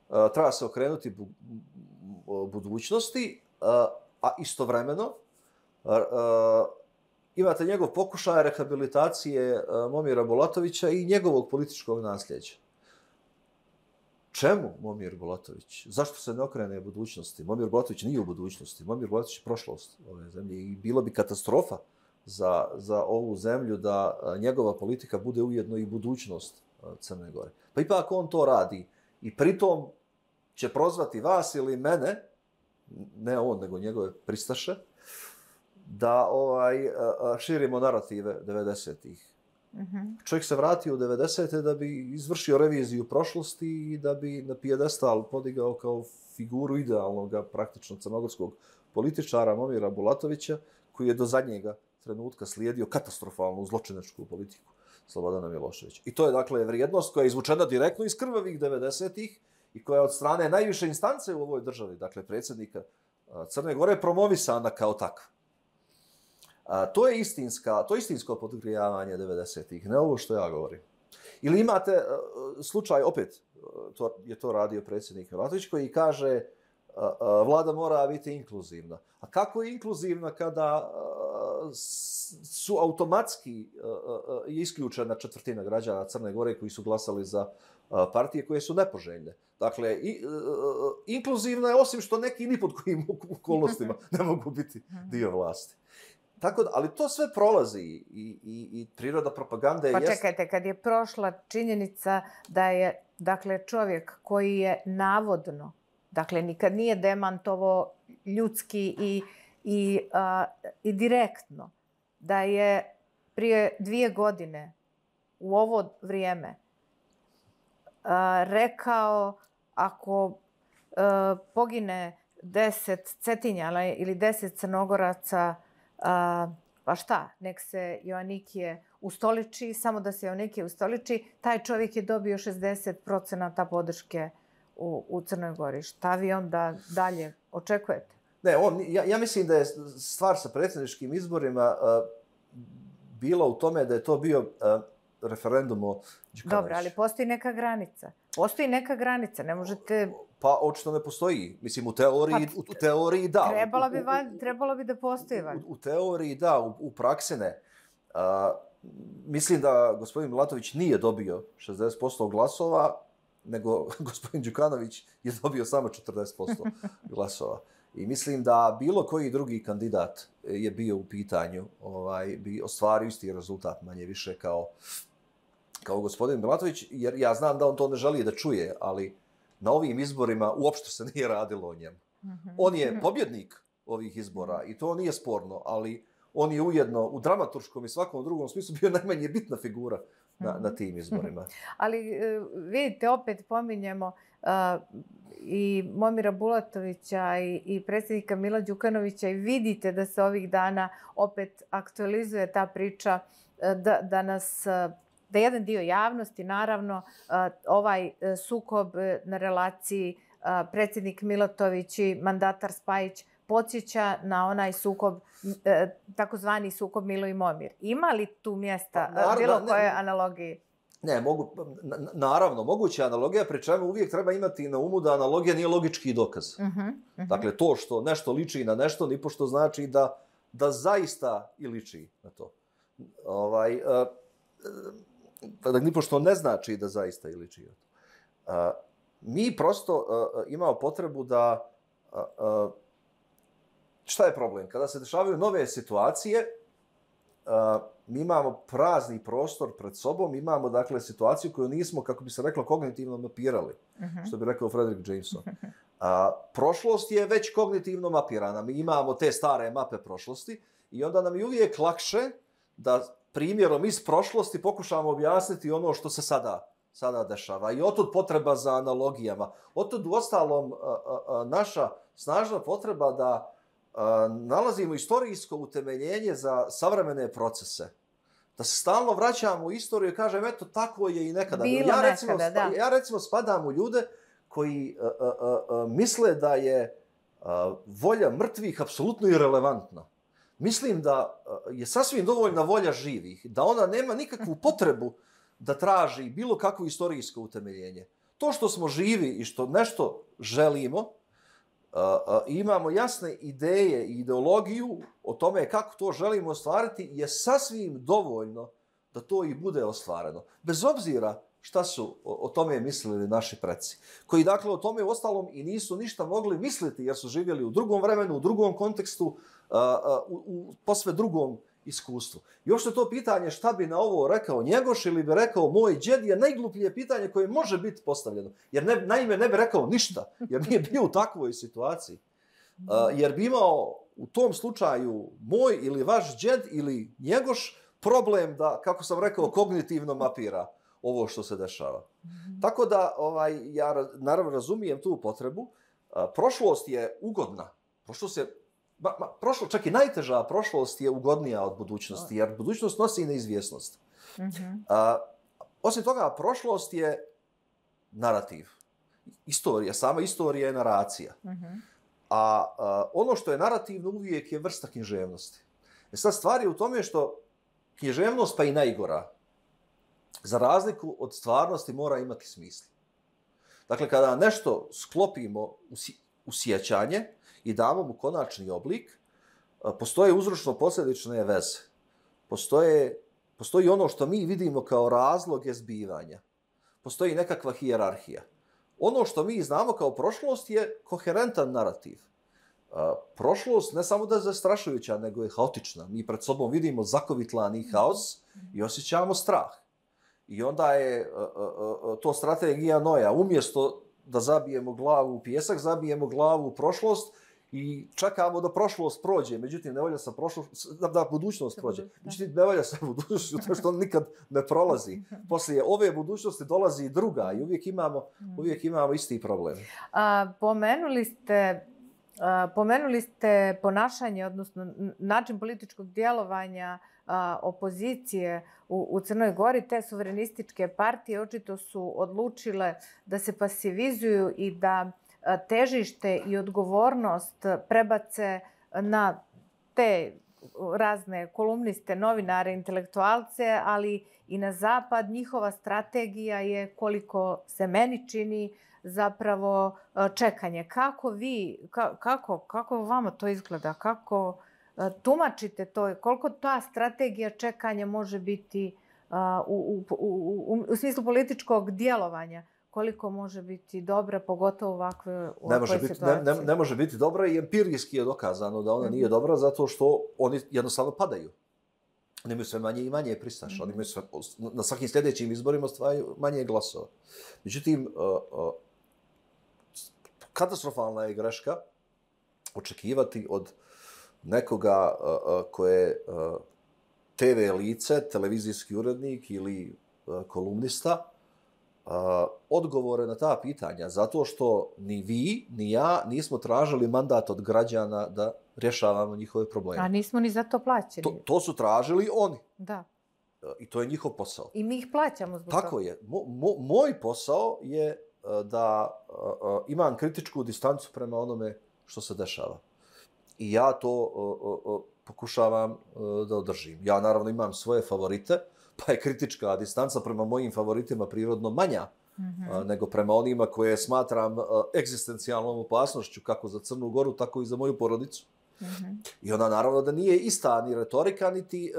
treba se okrenuti budućnosti, a istovremeno imate njegov pokušaj rehabilitacije Momira Bulatovića i njegovog političkog nasljeđa. Čemu Momir Bulatović? Zašto se ne okrene budućnosti? Momir Bulatović nije u budućnosti. Momir Bulatović je prošlost ove zemlje i bilo bi katastrofa za ovu zemlju da njegova politika bude ujedno i budućnost Crne Gore. Pa ipak on to radi i pritom će prozvati vas ili mene, ne on, nego njegove pristaše, da širimo narative 90-ih. Čovjek se vratio u 90-te da bi izvršio reviziju prošlosti i da bi na pijedestal podigao kao figuru idealnog, praktično crnogorskog političara Momira Bulatovića, koji je do zadnjega trenutka slijedio katastrofalnu zločinačku politiku Slobodana Miloševića. I to je dakle vrijednost koja je izvučena direktno iz krvavih 90-ih i koja je od strane najviše instance u ovoj državi, dakle predsjednika Crne Gore, promovisana kao takva. To je istinsko podgrijavanje 90-ih, ne ovo što ja govorim. Ili imate slučaj, opet je to radio predsjednik Milatović, koji kaže vlada mora biti inkluzivna. A kako je inkluzivna kada su automatski isključena četvrtina građana Crne Gore koji su glasali za partije koje su nepoželjne? Dakle, inkluzivna je osim što neki ni pod kojim okolnostima ne mogu biti dio vlasti. Tako da, ali to sve prolazi i priroda propagande je... Pa čekajte, kad je prošla činjenica da je, dakle, čovjek koji je navodno, dakle, nikad nije demantovo ljudski i direktno, da je prije 2 godine u ovo vrijeme rekao ako pogine 10 Cetinjana ili 10 Crnogoraca, pa šta, nek se Joannikije ustoliči, samo da se Joannikije ustoliči, taj čovjek je dobio 60% podrške u Crnoj Gori. Šta vi onda dalje očekujete? Ne, ja mislim da je stvar sa predsjedničkim izborima bila u tome da je to bio referendum o Đukanoviću. Dobro, ali postoji neka granica. Postoji neka granica, ne možete... Pa očito ne postoji. Mislim, u teoriji da. Trebalo bi da postoji. U teoriji da, u praksi ne. Mislim da gospodin Milatović nije dobio 60% glasova, nego gospodin Đukanović je dobio samo 40% glasova. I mislim da bilo koji drugi kandidat je bio u pitanju, bi ostvario isti rezultat, manje više kao gospodin Milatović, jer ja znam da on to ne želi da čuje, ali na ovim izborima uopšte se nije radilo o njemu. On je pobjednik ovih izbora i to nije sporno, ali on je ujedno u dramaturškom i svakom drugom smislu bio najmanje bitna figura na tim izborima. Ali vidite, opet pominjemo i Momira Bulatovića i predsjednika Mila Đukanovića i vidite da se ovih dana opet aktualizuje ta priča da jedan dio javnosti, naravno, ovaj sukob na relaciji predsjednik Milatović i mandatar Spajić podsjeća na onaj sukob, takozvani sukob Milo i Momir. Ima li tu mjesta bilo koje analogije? Ne, naravno, moguća analogija, pri čemu uvijek treba imati na umu da analogija nije logički dokaz. Dakle, to što nešto liči na nešto, nipošto znači da zaista i liči na to. Nipošto ne znači da zaista i liči na to. Mi prosto imamo potrebu da... Šta je problem? Kada se dešavaju nove situacije, mi imamo prazni prostor pred sobom, imamo, dakle, situaciju koju nismo, kako bi se reklo, kognitivno mapirali, što bi rekao Frederick Jameson. Prošlost je već kognitivno mapirana. Mi imamo te stare mape prošlosti i onda nam je uvijek lakše da primjerom iz prošlosti pokušamo objasniti ono što se sada dešava. I otud potreba za analogijama. Otud, uostalom, naša snažna potreba da nalazimo istorijsko utemeljenje za savremene procese. Da se stalno vraćamo u istoriju i kažem, eto, tako je i nekada. Ja recimo spadam u ljude koji misle da je volja mrtvih apsolutno irelevantna. Mislim da je sasvim dovoljna volja živih, da ona nema nikakvu potrebu da traži bilo kakvo istorijsko utemeljenje. To što smo živi i što nešto želimo, imamo jasne ideje i ideologiju o tome kako to želimo ostvariti, je sasvim dovoljno da to i bude ostvareno. Bez obzira šta su o tome mislili naši preci, koji dakle o tome uostalom i nisu ništa mogli misliti jer su živjeli u drugom vremenu, u drugom kontekstu, u posve drugom iskustvu. I uopšte to pitanje šta bi na ovo rekao Njegoš ili bi rekao moj džed je najgluplje pitanje koje može biti postavljeno. Jer naime ne bi rekao ništa, jer nije bio u takvoj situaciji. Jer bi imao u tom slučaju moj ili vaš džed ili Njegoš problem da, kako sam rekao, kognitivno mapira ovo što se dešava. Tako da ja naravno razumijem tu potrebu. Prošlost je ugodna. Čak i najteža prošlost je ugodnija od budućnosti, jer budućnost nosi neizvjesnost. Osim toga, prošlost je narativ. Istorija, sama istorija je naracija. A ono što je narativno uvijek je vrsta književnosti. Sad stvar je u tome što književnost, pa i najgora, za razliku od stvarnosti mora imati smisla. Dakle, kada nešto sklopimo u sjećanje i damo mu konačni oblik, postoje uzročno-posljedične veze. Postoji ono što mi vidimo kao razloge zbivanja. Postoji nekakva hijerarhija. Ono što mi znamo kao prošlost je koherentan narativ. Prošlost ne samo da je zastrašujuća, nego je haotična. Mi pred sobom vidimo zakovitlani haos i osjećamo strah. I onda je to strategija Noja. Umjesto da zabijemo glavu u pijesak, zabijemo glavu u prošlost i čekamo da prošlost prođe. Međutim, ne volja sa da budućnost prođe. Međutim, ne volja sa budućnošću, to što on nikad ne prolazi. Poslije ove budućnosti dolazi i druga i uvijek imamo isti problem. Pomenuli ste ponašanje, odnosno način političkog djelovanja opozicije u Crnoj Gori. Te suverenističke partije očito su odlučile da se pasivizuju i da težište i odgovornost prebace na te razne kolumniste, novinare, intelektualce, ali i na zapad. Njihova strategija je, koliko se meni čini, zapravo čekanje. Kako vama to izgleda? Kako tumačite to? Koliko ta strategija čekanja može biti u smislu političkog djelovanja? Koliko može biti dobra, pogotovo u ovakvoj situaciji? Ne može biti dobra i empirijski je dokazano da ona nije dobra zato što oni jednostavno padaju. Oni imaju sve manje i manje pristaša. Oni imaju na svakim sljedećim izborima stvaraju manje glasova. Međutim, katastrofalna je greška očekivati od nekoga ko je TV lice, televizijski urednik ili kolumnista, odgovore na ta pitanja, zato što ni vi, ni ja nismo tražili mandat od građana da rješavamo njihove probleme. A nismo ni za to plaćeni. To su tražili oni. Da. I to je njihov posao. I mi ih plaćamo zbog toga. Tako je. Moj posao je da imam kritičku distancu prema onome što se dešava. I ja to pokušavam da održim. Ja naravno imam svoje favorite, pa je kritička distanca prema mojim favoritima prirodno manja nego prema onima koje smatram egzistencijalnom opasnošću kako za Crnu Goru, tako i za moju porodicu. I ona naravno da nije ista ni retorika, niti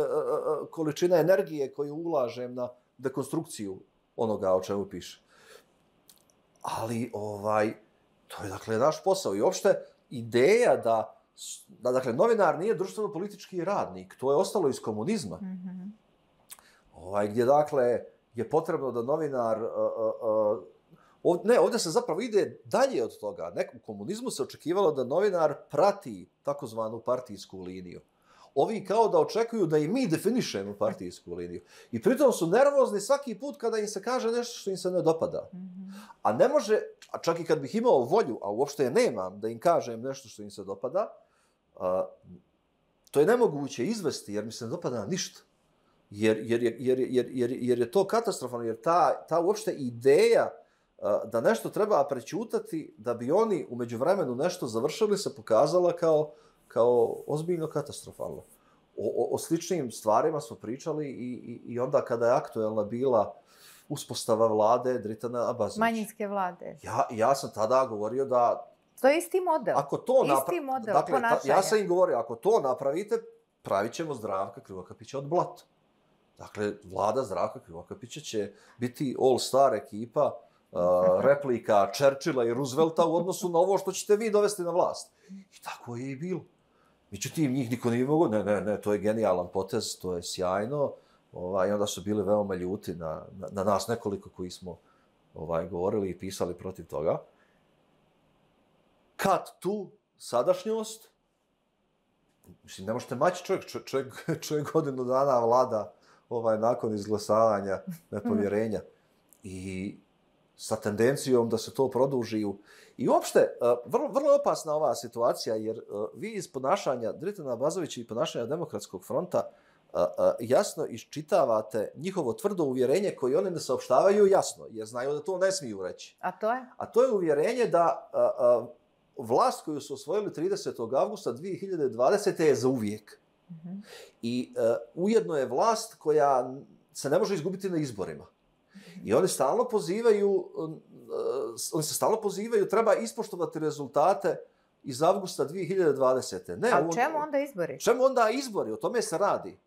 količina energije koju ulažem na dekonstrukciju onoga o čemu piše. Ali to je dakle naš posao. I uopšte ideja da dakle, novinar nije društveno-politički radnik. To je ostalo iz komunizma. Gdje, dakle, je potrebno da novinar... ovdje se zapravo ide dalje od toga. U komunizmu se očekivalo da novinar prati takozvanu partijsku liniju. Ovi kao da očekuju da i mi definišemo partijsku liniju. I pritom su nervozni svaki put kada im se kaže nešto što im se ne dopada. A ne može, a čak i kad bih imao volju, a uopšte je nemam, da im kažem nešto što im se dopada, to je nemoguće izvesti jer mi se ne dopada ništa. Jer je to katastrofalno, jer ta uopšte ideja da nešto treba prećutati da bi oni u međuvremenu nešto završili se pokazala kao ozbiljno katastrofalno. O sličnim stvarima smo pričali i onda kada je aktuelna bila uspostava vlade Dritana Abazovića. Manjinske vlade. Ja sam tada govorio da... To je isti model. Isti model ponašanja. Ja sam im govorio, ako to napravite, pravit ćemo Zdravka Krivokapića od blata. Dakle, vlada Zdravka Krivokapića će biti all-star ekipa, replika Churchilla i Roosevelta u odnosu na ovo što ćete vi dovesti na vlast. I tako je i bilo. Međutim, njih niko nije mogao, ne, to je genijalan potez, to je sjajno. I onda su bili veoma ljuti na nas nekoliko koji smo govorili i pisali protiv toga. Kad tu sadašnjost, mislim, ne možete maći čovjek godinu dana vlada nakon izglasavanja nepovjerenja. I sa tendencijom da se to produži. I uopšte, vrlo opasna ova situacija, jer vi iz ponašanja Dritana Abazovića i ponašanja Demokratskog fronta jasno iščitavate njihovo tvrdo uvjerenje koje oni ne saopštavaju jasno, jer znaju da to ne smiju reći. A to je? A to je uvjerenje da vlast koju su osvojili 30. avgusta 2020. je za uvijek. I ujedno je vlast koja se ne može izgubiti na izborima. I oni se stalno pozivaju, treba ispoštovati rezultate iz avgusta 2020. A čemu onda izbori? Čemu onda izbori? O tome se radi.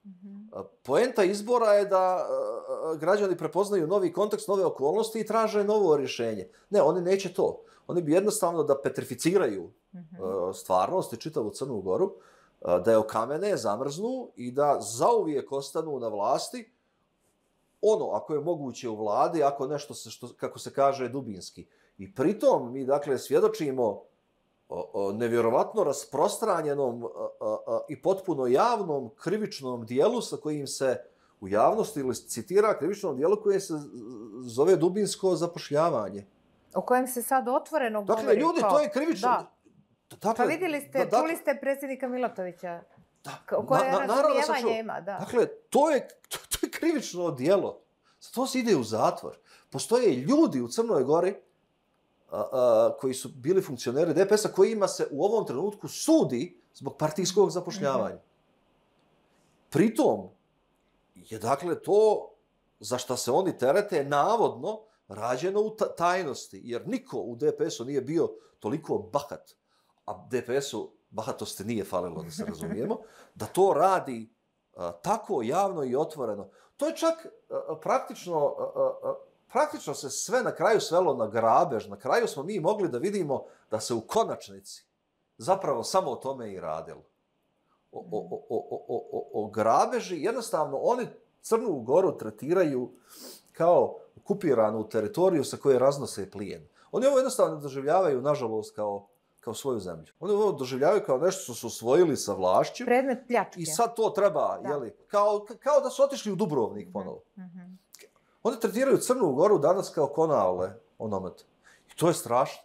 Poenta izbora je da građani prepoznaju novi kontekst, nove okolnosti i traže novo rješenje. Ne, oni neće to. Oni bi jednostavno da petrificiraju stvarnost i čitavu Crnu Goru, da je okamene, zamrznu i da zauvijek ostanu na vlasti, ako je moguće u vladi, ako nešto se, kako se kaže, dubinski. I pritom mi, dakle, svjedočimo nevjerovatno rasprostranjenom i potpuno javnom krivičnom dijelu sa kojim se u javnosti ili citira krivičnom dijelu koje se zove dubinsko zapošljavanje. O kojem se sad otvoreno govori. Dakle, ljudi, to je krivično... Pa vidjeli ste, čuli ste predsjednika Milatovića. Koje razumijevanje ima, da. Dakle, to je krivično djelo. Za to se ide u zatvor. Postoje ljudi u Crnoj Gori koji su bili funkcioneri DPS-a kojima se u ovom trenutku sudi zbog partijskog zapošljavanja. Pritom je, dakle, to za šta se oni terete navodno rađeno u tajnosti, jer niko u DPS-u nije bio toliko bahat, a DPS-u bahatosti nije falilo, da se razumijemo, da to radi tako javno i otvoreno. To je čak praktično se sve na kraju svelo na grabež. Na kraju smo mi mogli da vidimo da se u konačnici zapravo samo o tome i radilo. O grabeži, jednostavno oni Crnu Goru tretiraju kao okupiranu teritoriju sa koje raznose plijen. Oni ovo jednostavno doživljavaju, nažalost, kao svoju zemlju. Oni ovo doživljavaju kao nešto što su osvojili sa vlašću. Predmet pljačke. I sad to treba, jeli, kao da su otišli u Dubrovnik ponovo. Oni tretiraju Crnu Goru danas kao Konavle, onomet. I to je strašno.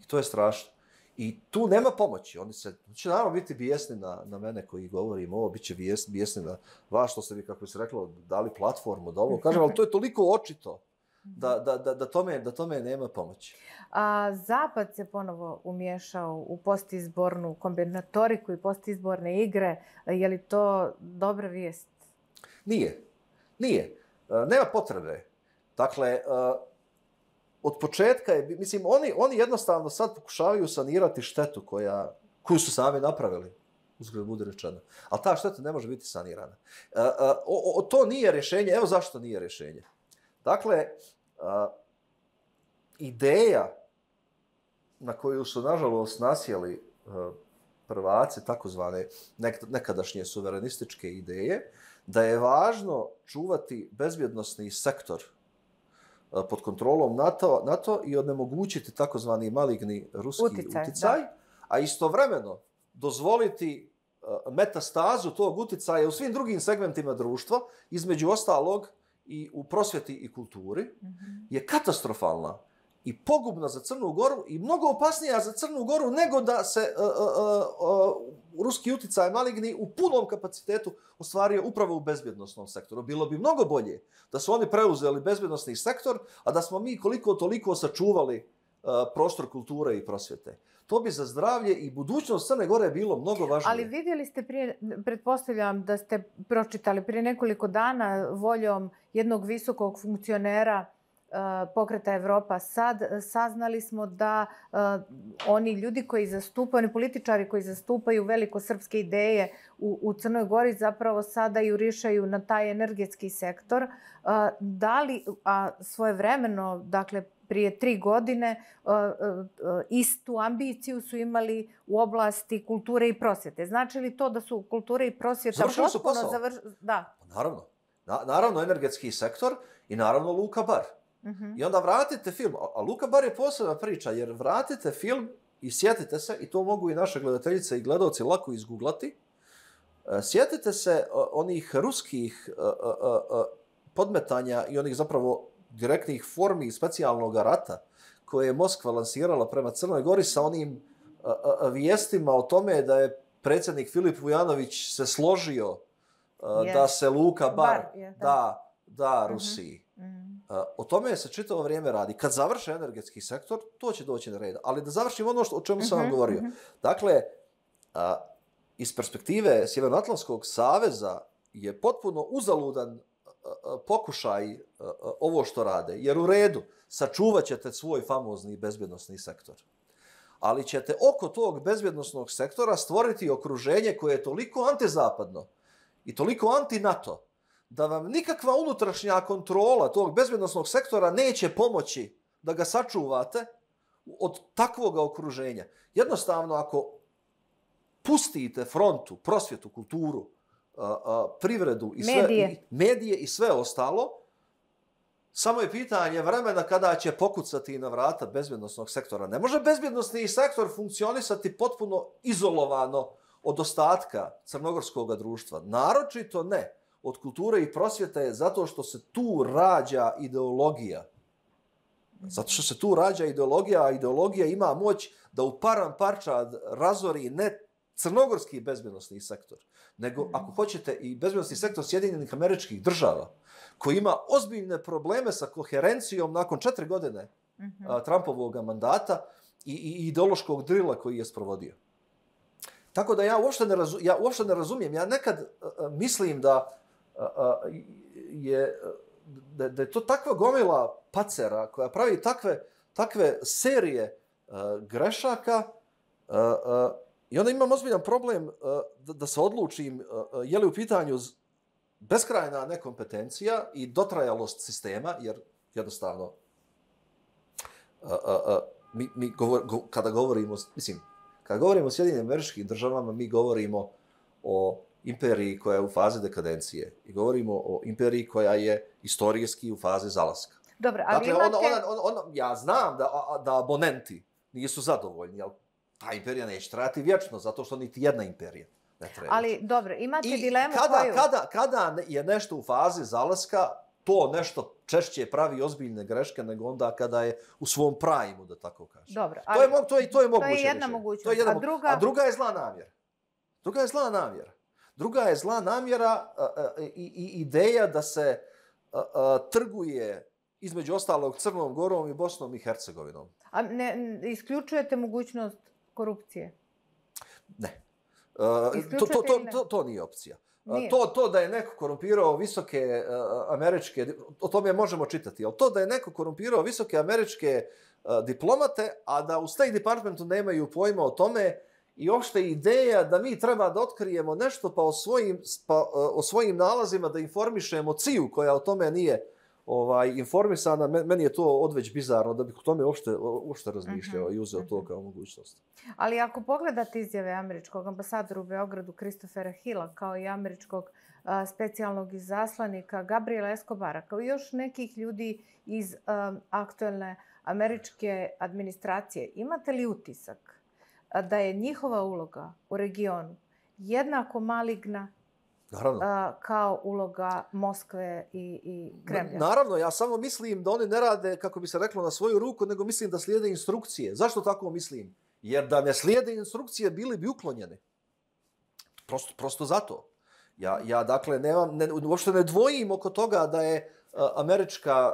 I to je strašno. I tu nema pomoći. Oni će naravno biti bijesni na mene koji govorim ovo, bit će bijesni na vas što ste vi, kako bi se reklo, dali platformu da ovo kažem, ali to je toliko očito da tome nema pomoći. Zapad se ponovo umješao u postizbornu kombinatoriku i postizborne igre. Je li to dobra vijest? Nije. Nema potrebe. Dakle, od početka je, mislim, oni jednostavno sad pokušavaju sanirati štetu koju su sami napravili, uzgled bude rečeno. Ali ta šteta ne može biti sanirana. To nije rješenje. Evo zašto nije rješenje. Dakle, ideja na koju su, nažalost, nasjeli prvaci, takozvane nekadašnje suverenističke ideje, da je važno čuvati bezbjednosni sektor pod kontrolom NATO i onemogućiti takozvani maligni ruski uticaj, a istovremeno dozvoliti metastazu tog uticaja u svim drugim segmentima društva, između ostalog i u prosvjeti i kulturi, je katastrofalna i pogubna za Crnu Goru i mnogo opasnija za Crnu Goru nego da se ruski uticaj maligni u punom kapacitetu ostvario upravo u bezbjednosnom sektoru. Bilo bi mnogo bolje da su oni preuzeli bezbjednosni sektor, a da smo mi koliko toliko sačuvali prostor kulture i prosvjete. To bi za zdravlje i budućnost Crne Gore bilo mnogo važnije. Ali vidjeli ste pretpostavljam da ste pročitali prije nekoliko dana voljom jednog visokog funkcionera Pokreta Evropa sad, saznali smo da oni ljudi koji zastupaju, oni političari koji zastupaju velikosrpske ideje u Crnoj Gori zapravo sada jurišaju na taj energetski sektor. Da li, a svojevremeno, dakle prije 3 godine, istu ambiciju su imali u oblasti kulture i prosvjete. Znači li to da su kulture i prosvjeta završili su posao? Da. Naravno. Naravno energetski sektor i naravno Luka Bar. I onda vratite film, a Luka Bar je posebna priča, jer vratite film i sjetite se, i to mogu i naše gledateljice i gledalci lako izguglati, sjetite se onih ruskih podmetanja i onih zapravo direktnih formi specijalnog rata koje je Moskva lansirala prema Crnoj Gori sa onim vijestima o tome da je predsjednik Filip Vujanović se složio da se Luka Bar da Rusiji. O tome se čitavo vrijeme radi. Kad završe energetski sektor, to će doći na red. Ali da završim ono o čemu sam vam govorio. Dakle, iz perspektive Sjevernoatlantskog saveza je potpuno uzaludan pokušaj ovo što rade. Jer u redu, sačuvat ćete svoj famozni bezbjednosni sektor. Ali ćete oko tog bezbjednosnog sektora stvoriti okruženje koje je toliko antizapadno i toliko anti-NATO da vam nikakva unutrašnja kontrola tog bezbjednosnog sektora neće pomoći da ga sačuvate od takvog okruženja. Jednostavno, ako pustite frontu, prosvjetu, kulturu, privredu i sve, medije i sve ostalo, samo je pitanje vremena kada će pokucati na vrata bezbjednosnog sektora. Ne može bezbjednosni sektor funkcionisati potpuno izolovano od ostatka crnogorskog društva. Naročito ne od kulture i prosvjete, zato što se tu rađa ideologija. Zato što se tu rađa ideologija, a ideologija ima moć da u param parčad razori ne crnogorski bezbjednosni sektor, nego, ako hoćete, i bezbjednosni sektor Sjedinjenih Američkih Država, koji ima ozbiljne probleme sa koherencijom nakon 4 godine Trumpovog mandata i ideološkog drila koji je sprovodio. Tako da ja uopšte ne razumijem. Ja nekad mislim da je da je to takva gomila pacera koja pravi takve serije grešaka i onda imam ozbiljan problem da se odlučim je li u pitanju beskrajna nekompetencija i dotrajalost sistema, jer jednostavno kada govorimo, mislim, kada govorimo o Sjedinjenim Američkim Državama, mi govorimo o imperiji koja je u fazi dekadencije i govorimo o imperiji koja je istorijski u fazi zalaska. Dobro, ali dakle, imate... ja znam da abonenti nisu zadovoljni, ali ta imperija neće trajati vječno, zato što niti jedna imperija ne treba. Ali, dobro, imate dilemu Kada je nešto u fazi zalaska, to nešto češće pravi ozbiljne greške nego onda kada je u svom primu, da tako kažem. Dobro, ali to je moguće. To je jedna mogućnost. A druga je zla namjera. Druga je zla namjera i ideja da se trguje između ostalog Crnom Gorom i Bosnom i Hercegovinom. A ne isključujete mogućnost korupcije? Ne. To nije opcija. Nije. To da je neko korumpirao visoke američke, o tome možemo čitati, ali to da je neko korumpirao visoke američke diplomate, a da u State Departmentu nemaju pojma o tome i uopšte ideja da mi treba da otkrijemo nešto pa o svojim nalazima da informišemo CIA-u koja o tome nije informisana, meni je to odveć bizarno da bih o tome uopšte razmišljao i uzeo to kao mogućnost. Ali ako pogledate izjave američkog ambasadora u Beogradu Christophera Hilla kao i američkog specijalnog izaslanika Gabriela Escobara, kao i još nekih ljudi iz aktuelne američke administracije, imate li utisak da je njihova uloga u regionu jednako maligna kao uloga Moskve i Kremlja? Naravno, ja samo mislim da oni ne rade, kako bi se reklo, na svoju ruku, nego mislim da slijede instrukcije. Zašto tako mislim? Jer da ne slijede instrukcije, bili bi uklonjeni. Prosto zato. Ja dakle, uopšte ne dvojim oko toga da je američka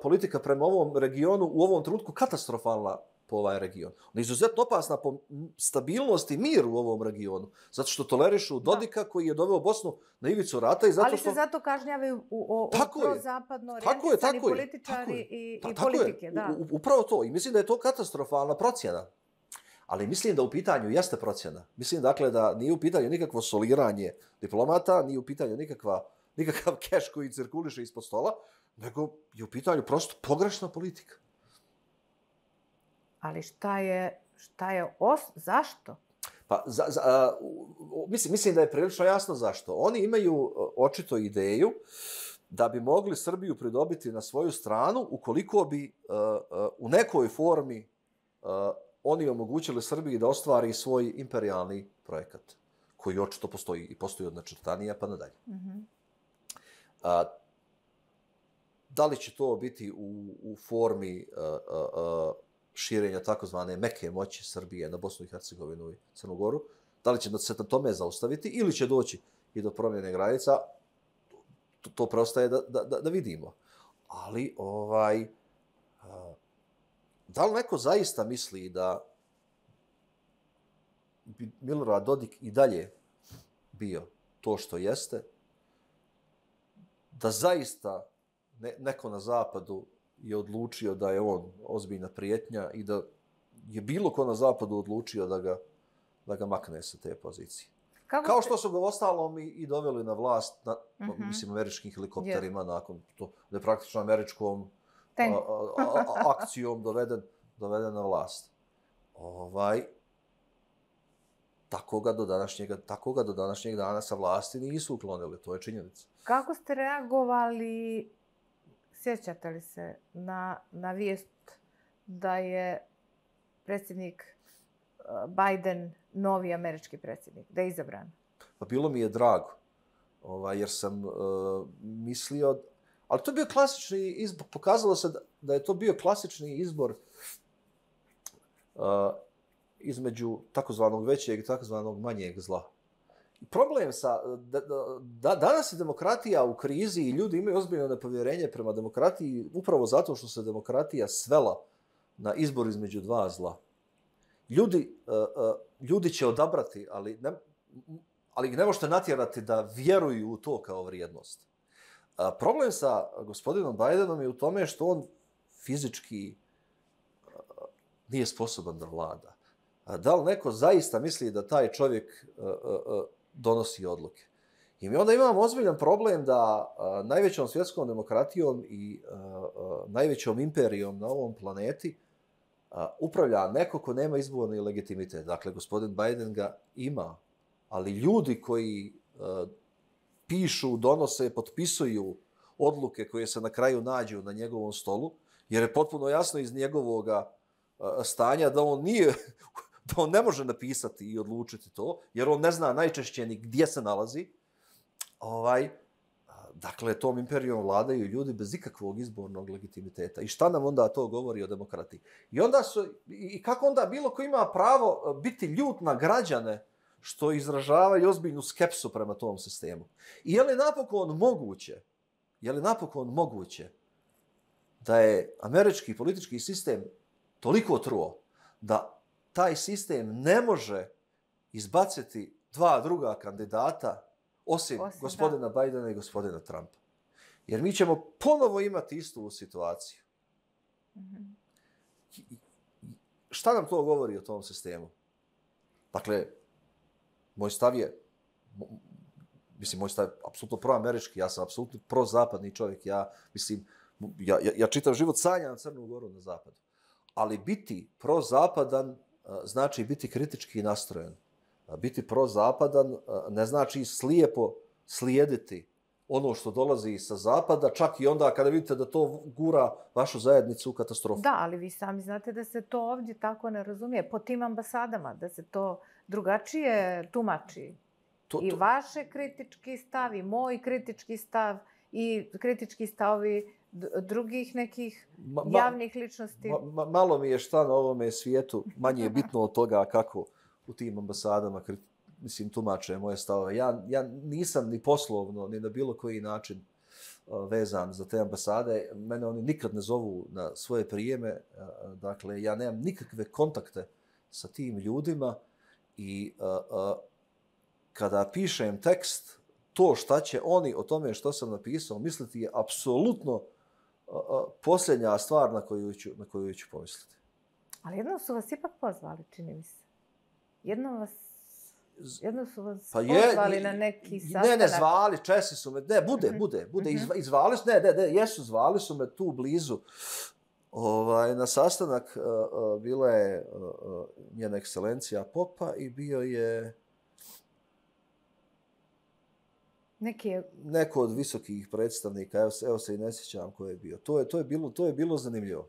politika prema ovom regionu u ovom trenutku katastrofalna po ovaj region. Ona je izuzetno opasna po stabilnost i mir u ovom regionu. Zato što tolerišu Dodika koji je doveo Bosnu na ivicu rata. Ali se zato kažnjavaju prozapadno orijentisani političari i politike. Upravo to. I mislim da je to katastrofalna procjena. Ali mislim da u pitanju jeste procjena. Mislim dakle da nije u pitanju nikakvo soliranje diplomata, nije u pitanju nikakav keš koji cirkuliše ispod stola, nego je u pitanju prosto pogrešna politika. Ali zašto? Pa, mislim da je prilično jasno zašto. Oni imaju očito ideju da bi mogli Srbiju pridobiti na svoju stranu ukoliko bi u nekoj formi oni omogućili Srbiji da ostvari svoj imperijalni projekat, koji očito postoji i postoji od načrtanija pa nadalje. Da li će to biti u formi širenja takozvane meke moći Srbije na Bosnu i Hercegovinu i Crnu Goru, da li će se na tome zaustaviti ili će doći i do promjene granica, to preostaje da vidimo. Ali, da li neko zaista misli da bi Milorad Dodik i dalje bio to što jeste, da zaista neko na zapadu je odlučio da je on ozbiljna prijetnja i da je bilo ko na zapadu odlučio da ga makne sa te pozicije. Kao što su ga ostalom i doveli na vlast, mislim, američkim helikopterima, nakon to, da je praktično američkom akcijom doveden na vlast. Tako ga do današnjeg dana sa vlasti nisu uklonili, to je činjenica. Kako ste reagovali, sjećate li se, na vijest da je predsjednik Biden novi američki predsjednik, da je izabran? Pa bilo mi je drago, jer sam mislio, ali to je bio klasični izbor, pokazalo se da je to bio klasični izbor između takozvanog većeg i takozvanog manjeg zla. Problem danas je demokratija u krizi i ljudi imaju ozbiljno nepovjerenje prema demokratiji upravo zato što se demokratija svela na izbor između dva zla. Ljudi će odabrati, ali ih ne možete natjerati da vjeruju u to kao vrijednost. Problem sa gospodinom Bajdenom je u tome što on fizički nije sposoban da vlada. Da li neko zaista misli da taj čovjek donosi odluke? I mi onda imamo ozbiljan problem da najvećom svjetskom demokratijom i najvećom imperijom na ovom planeti upravlja neko ko nema izborni legitimitet. Dakle, gospodin Biden ga ima, ali ljudi koji pišu, donose, potpisuju odluke koje se na kraju nađu na njegovom stolu, jer je potpuno jasno iz njegovog stanja da on nije, da on ne može napisati i odlučiti to, jer on ne zna najčešće ni gdje se nalazi. Dakle, tom imperijom vladaju ljudi bez ikakvog izbornog legitimiteta. I šta nam onda to govori o demokratiji? I kako onda bilo ko ima pravo biti ljut na građane što izražavaju ozbiljnu skepsu prema tom sistemu? I je li napokon moguće da je američki politički sistem toliko truo da taj sistem ne može izbaciti dva druga kandidata osim gospodina Bajdena i gospodina Trumpa? Jer mi ćemo ponovo imati istu situaciju. Šta nam to govori o tom sistemu? Dakle, moj stav je apsolutno proamerički, ja sam apsolutno prozapadni čovjek, ja čitav život sanjam Crnu Goru na zapadu. Ali biti prozapadan znači biti kritički nastrojen. Biti prozapadan ne znači slijepo slijediti ono što dolazi sa zapada, čak i onda kada vidite da to gura vašu zajednicu u katastrofu. Da, ali vi sami znate da se to ovdje tako ne razumije. Po tim ambasadama, da se to drugačije tumači. I vaše kritički stav, i moj kritički stav, i kritički stavovi drugih nekih javnih ličnosti. Malo mi je šta na ovome svijetu manje je bitno od toga kako u tim ambasadama tumače moje stavove. Ja nisam ni poslovno, ni na bilo koji način vezan za te ambasade. Mene oni nikad ne zovu na svoje prijeme. Dakle, ja nemam nikakve kontakte sa tim ljudima i kada pišem tekst, to šta će oni o tome što sam napisao misliti je apsolutno posljednja stvar na koju ću pomisliti. Ali jednom su vas ipak pozvali, čini mi se. Jednom su vas pozvali na neki sastanak. Ne, zvali, Česi su me, bude, izvali su, zvali su me tu blizu. Na sastanak bila je njena ekscelencija Popa i bio je neko od visokih predstavnika, evo se i ne sjećam ko je bio. To je bilo zanimljivo.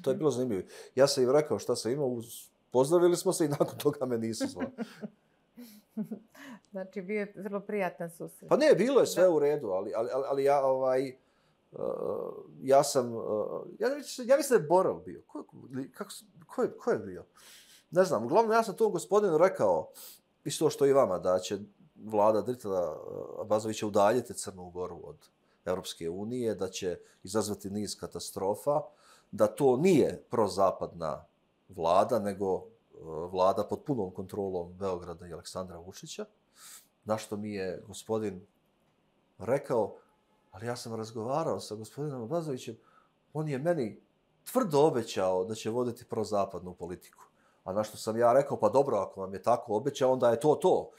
To je bilo zanimljivo. Ja sam im rekao šta sam imao, pozdravili smo se i nakon toga me nisu zvali. Znači, bio je vrlo prijatan susret. Pa ne, bilo je sve u redu, ali ja sam, ja mislim da je Borel bio. Ko je bio? Ne znam, uglavnom ja sam tom gospodinu rekao, isto što i vama, da će vlada Dritela Abazovića udaljiti Crnu Goru od Europske unije, da će izazvati niz katastrofa, da to nije prozapadna vlada, nego vlada pod punom kontrolom Beograda i Aleksandra Vučića, na što mi je gospodin rekao, ali ja sam razgovarao sa gospodinom Abazovićem, on je meni tvrdo obećao da će voditi prozapadnu politiku. A na što sam ja rekao, pa dobro, ako vam je tako obećao, onda je to.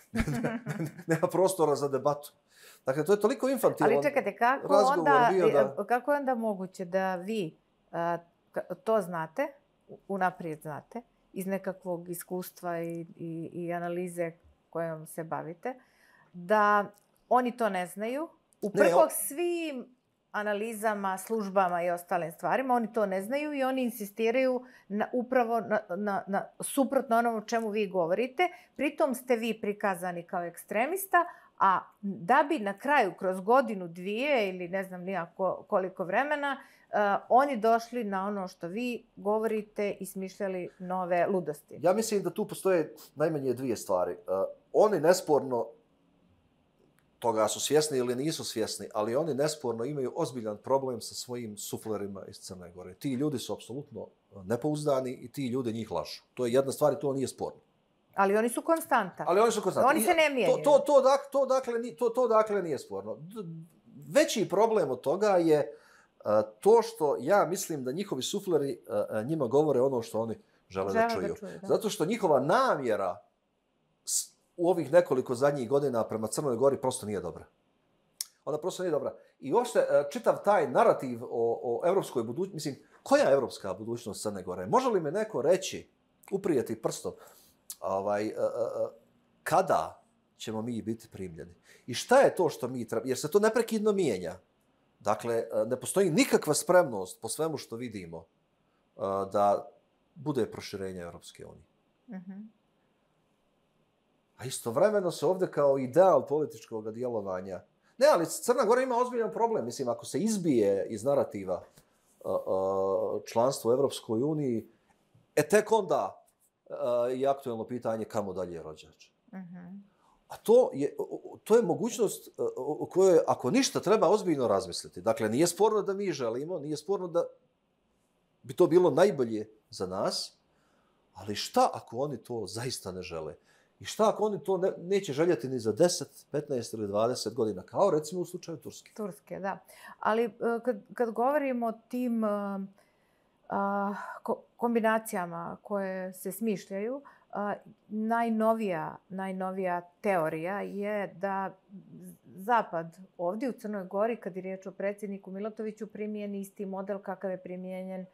Nema prostora za debatu. Dakle, to je toliko infantilan razgovor bio da... Kako je onda moguće da vi to znate, unaprijed znate, iz nekakvog iskustva i analize kojom se bavite, da oni to ne znaju, uprkos svim analizama, službama i ostalim stvarima, oni to ne znaju i oni insistiraju upravo na suprotno onom o čemu vi govorite. Pritom ste vi prikazani kao ekstremista, a da bi na kraju, kroz godinu, dvije ili ne znam nijako koliko vremena, oni došli na ono što vi govorite i smišljali nove ludosti. Ja mislim da tu postoje najmanje dvije stvari. Oni nesporno toga su svjesni ili nisu svjesni, ali oni nesporno imaju ozbiljan problem sa svojim suflerima iz Crne Gore. Ti ljudi su apsolutno nepouzdani i ti ljudi njih lažu. To je jedna stvar i to nije sporno. Ali oni su konstanta. Oni se ne mijenjaju. To dakle nije sporno. veći problem od toga je to što ja mislim da njihovi sufleri njima govore ono što oni žele da čuju. Zato što njihova namjera u ovih nekoliko zadnjih godina prema Crnoj Gori prosto nije dobra. Ona prosto nije dobra. I uopšte čitav taj narativ o evropskoj budućnosti, mislim, koja je evropska budućnost Crne Gore? Može li me neko reći, uprijeti prstom, kada ćemo mi biti primljeni? I šta je to što mi treba? Jer se to neprekidno mijenja. Dakle, ne postoji nikakva spremnost po svemu što vidimo da bude proširenje Europske unije. A istovremeno se ovdje kao ideal političkog djelovanja. Ne, ali Crna Gora ima ozbiljan problem. Mislim, ako se izbije iz narativa članstvo u Europskoj uniji, tek onda je aktuelno pitanje kamo dalje rođač. A to je mogućnost o kojoj, ako ništa, treba ozbiljno razmisliti. Dakle, nije sporno da mi želimo, nije sporno da bi to bilo najbolje za nas, ali šta ako oni to zaista ne žele? I šta ako oni to neće željeti ni za 10, 15 ili 20 godina, kao recimo u slučaju Turske? Turske, da. Ali kad govorimo o tim kombinacijama koje se smišljaju, najnovija teorija je da Zapad ovdje u Crnoj Gori, kad je riječ o predsjedniku Milatoviću, primijeni isti model kakav je primijenjen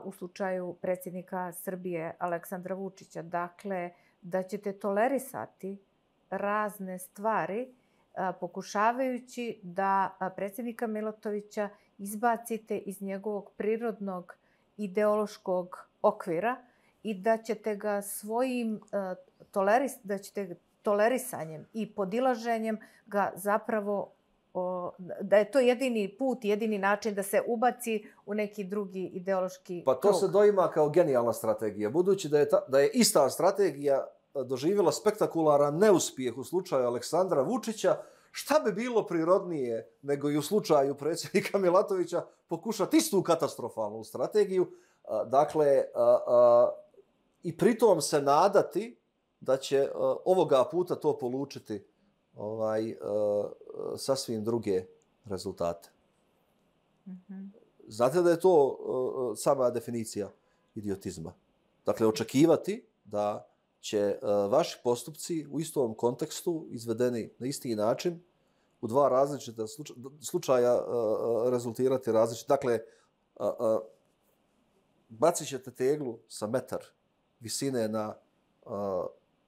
u slučaju predsjednika Srbije Aleksandra Vučića. Dakle, da ćete tolerisati razne stvari pokušavajući da predsjednika Milatovića izbacite iz njegovog prirodnog ideološkog okvira i da ćete ga svojim tolerisanjem i podilaženjem ga zapravo, da je to jedini put, jedini način da se ubaci u neki drugi ideološki krug. Pa to se doima kao genijalna strategija. Budući da je ista strategija doživjela spektakularan neuspjeh u slučaju Aleksandra Vučića, šta bi bilo prirodnije nego i u slučaju predsjednika Milatovića pokušati istu katastrofalnu strategiju, dakle, i pritom se nadati da će ovoga puta to polučiti sasvim druge rezultate. Znate da je to sama definicija idiotizma. Dakle, očekivati da će vaši postupci u istom kontekstu, izvedeni na isti način, u dva različita slučaja rezultirati različito. Dakle, bacit ćete teglu sa metar visine na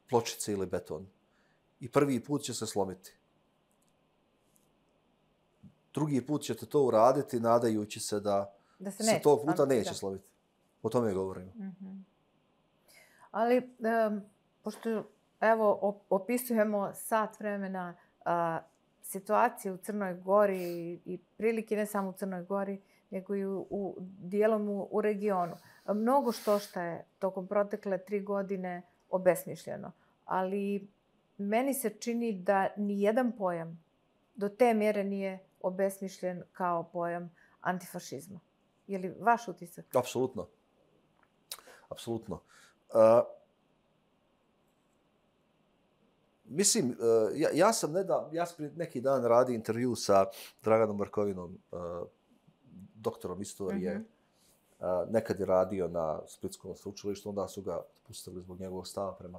pločice ili beton. I prvi put će se slomiti. Drugi put ćete to uraditi nadajući se da se tog puta neće slomiti. O tome govorimo. Ali, pošto evo opisujemo sat vremena situaciju u Crnoj Gori i prilike ne samo u Crnoj Gori, nego i dijelom u regionu. Mnogo što je tokom protekle 3 godine obesmišljeno. Ali meni se čini da nijedan pojam do te mjere nije obesmišljen kao pojam antifašizma. Je li vaš utisak? Apsolutno. Apsolutno. Mislim, ja sam prije neki dan radio intervju sa Draganom Markovinom, doktorom istorije. Nekad je radio na Splitskom sveučilištu, onda su ga pustili zbog njegovog stava prema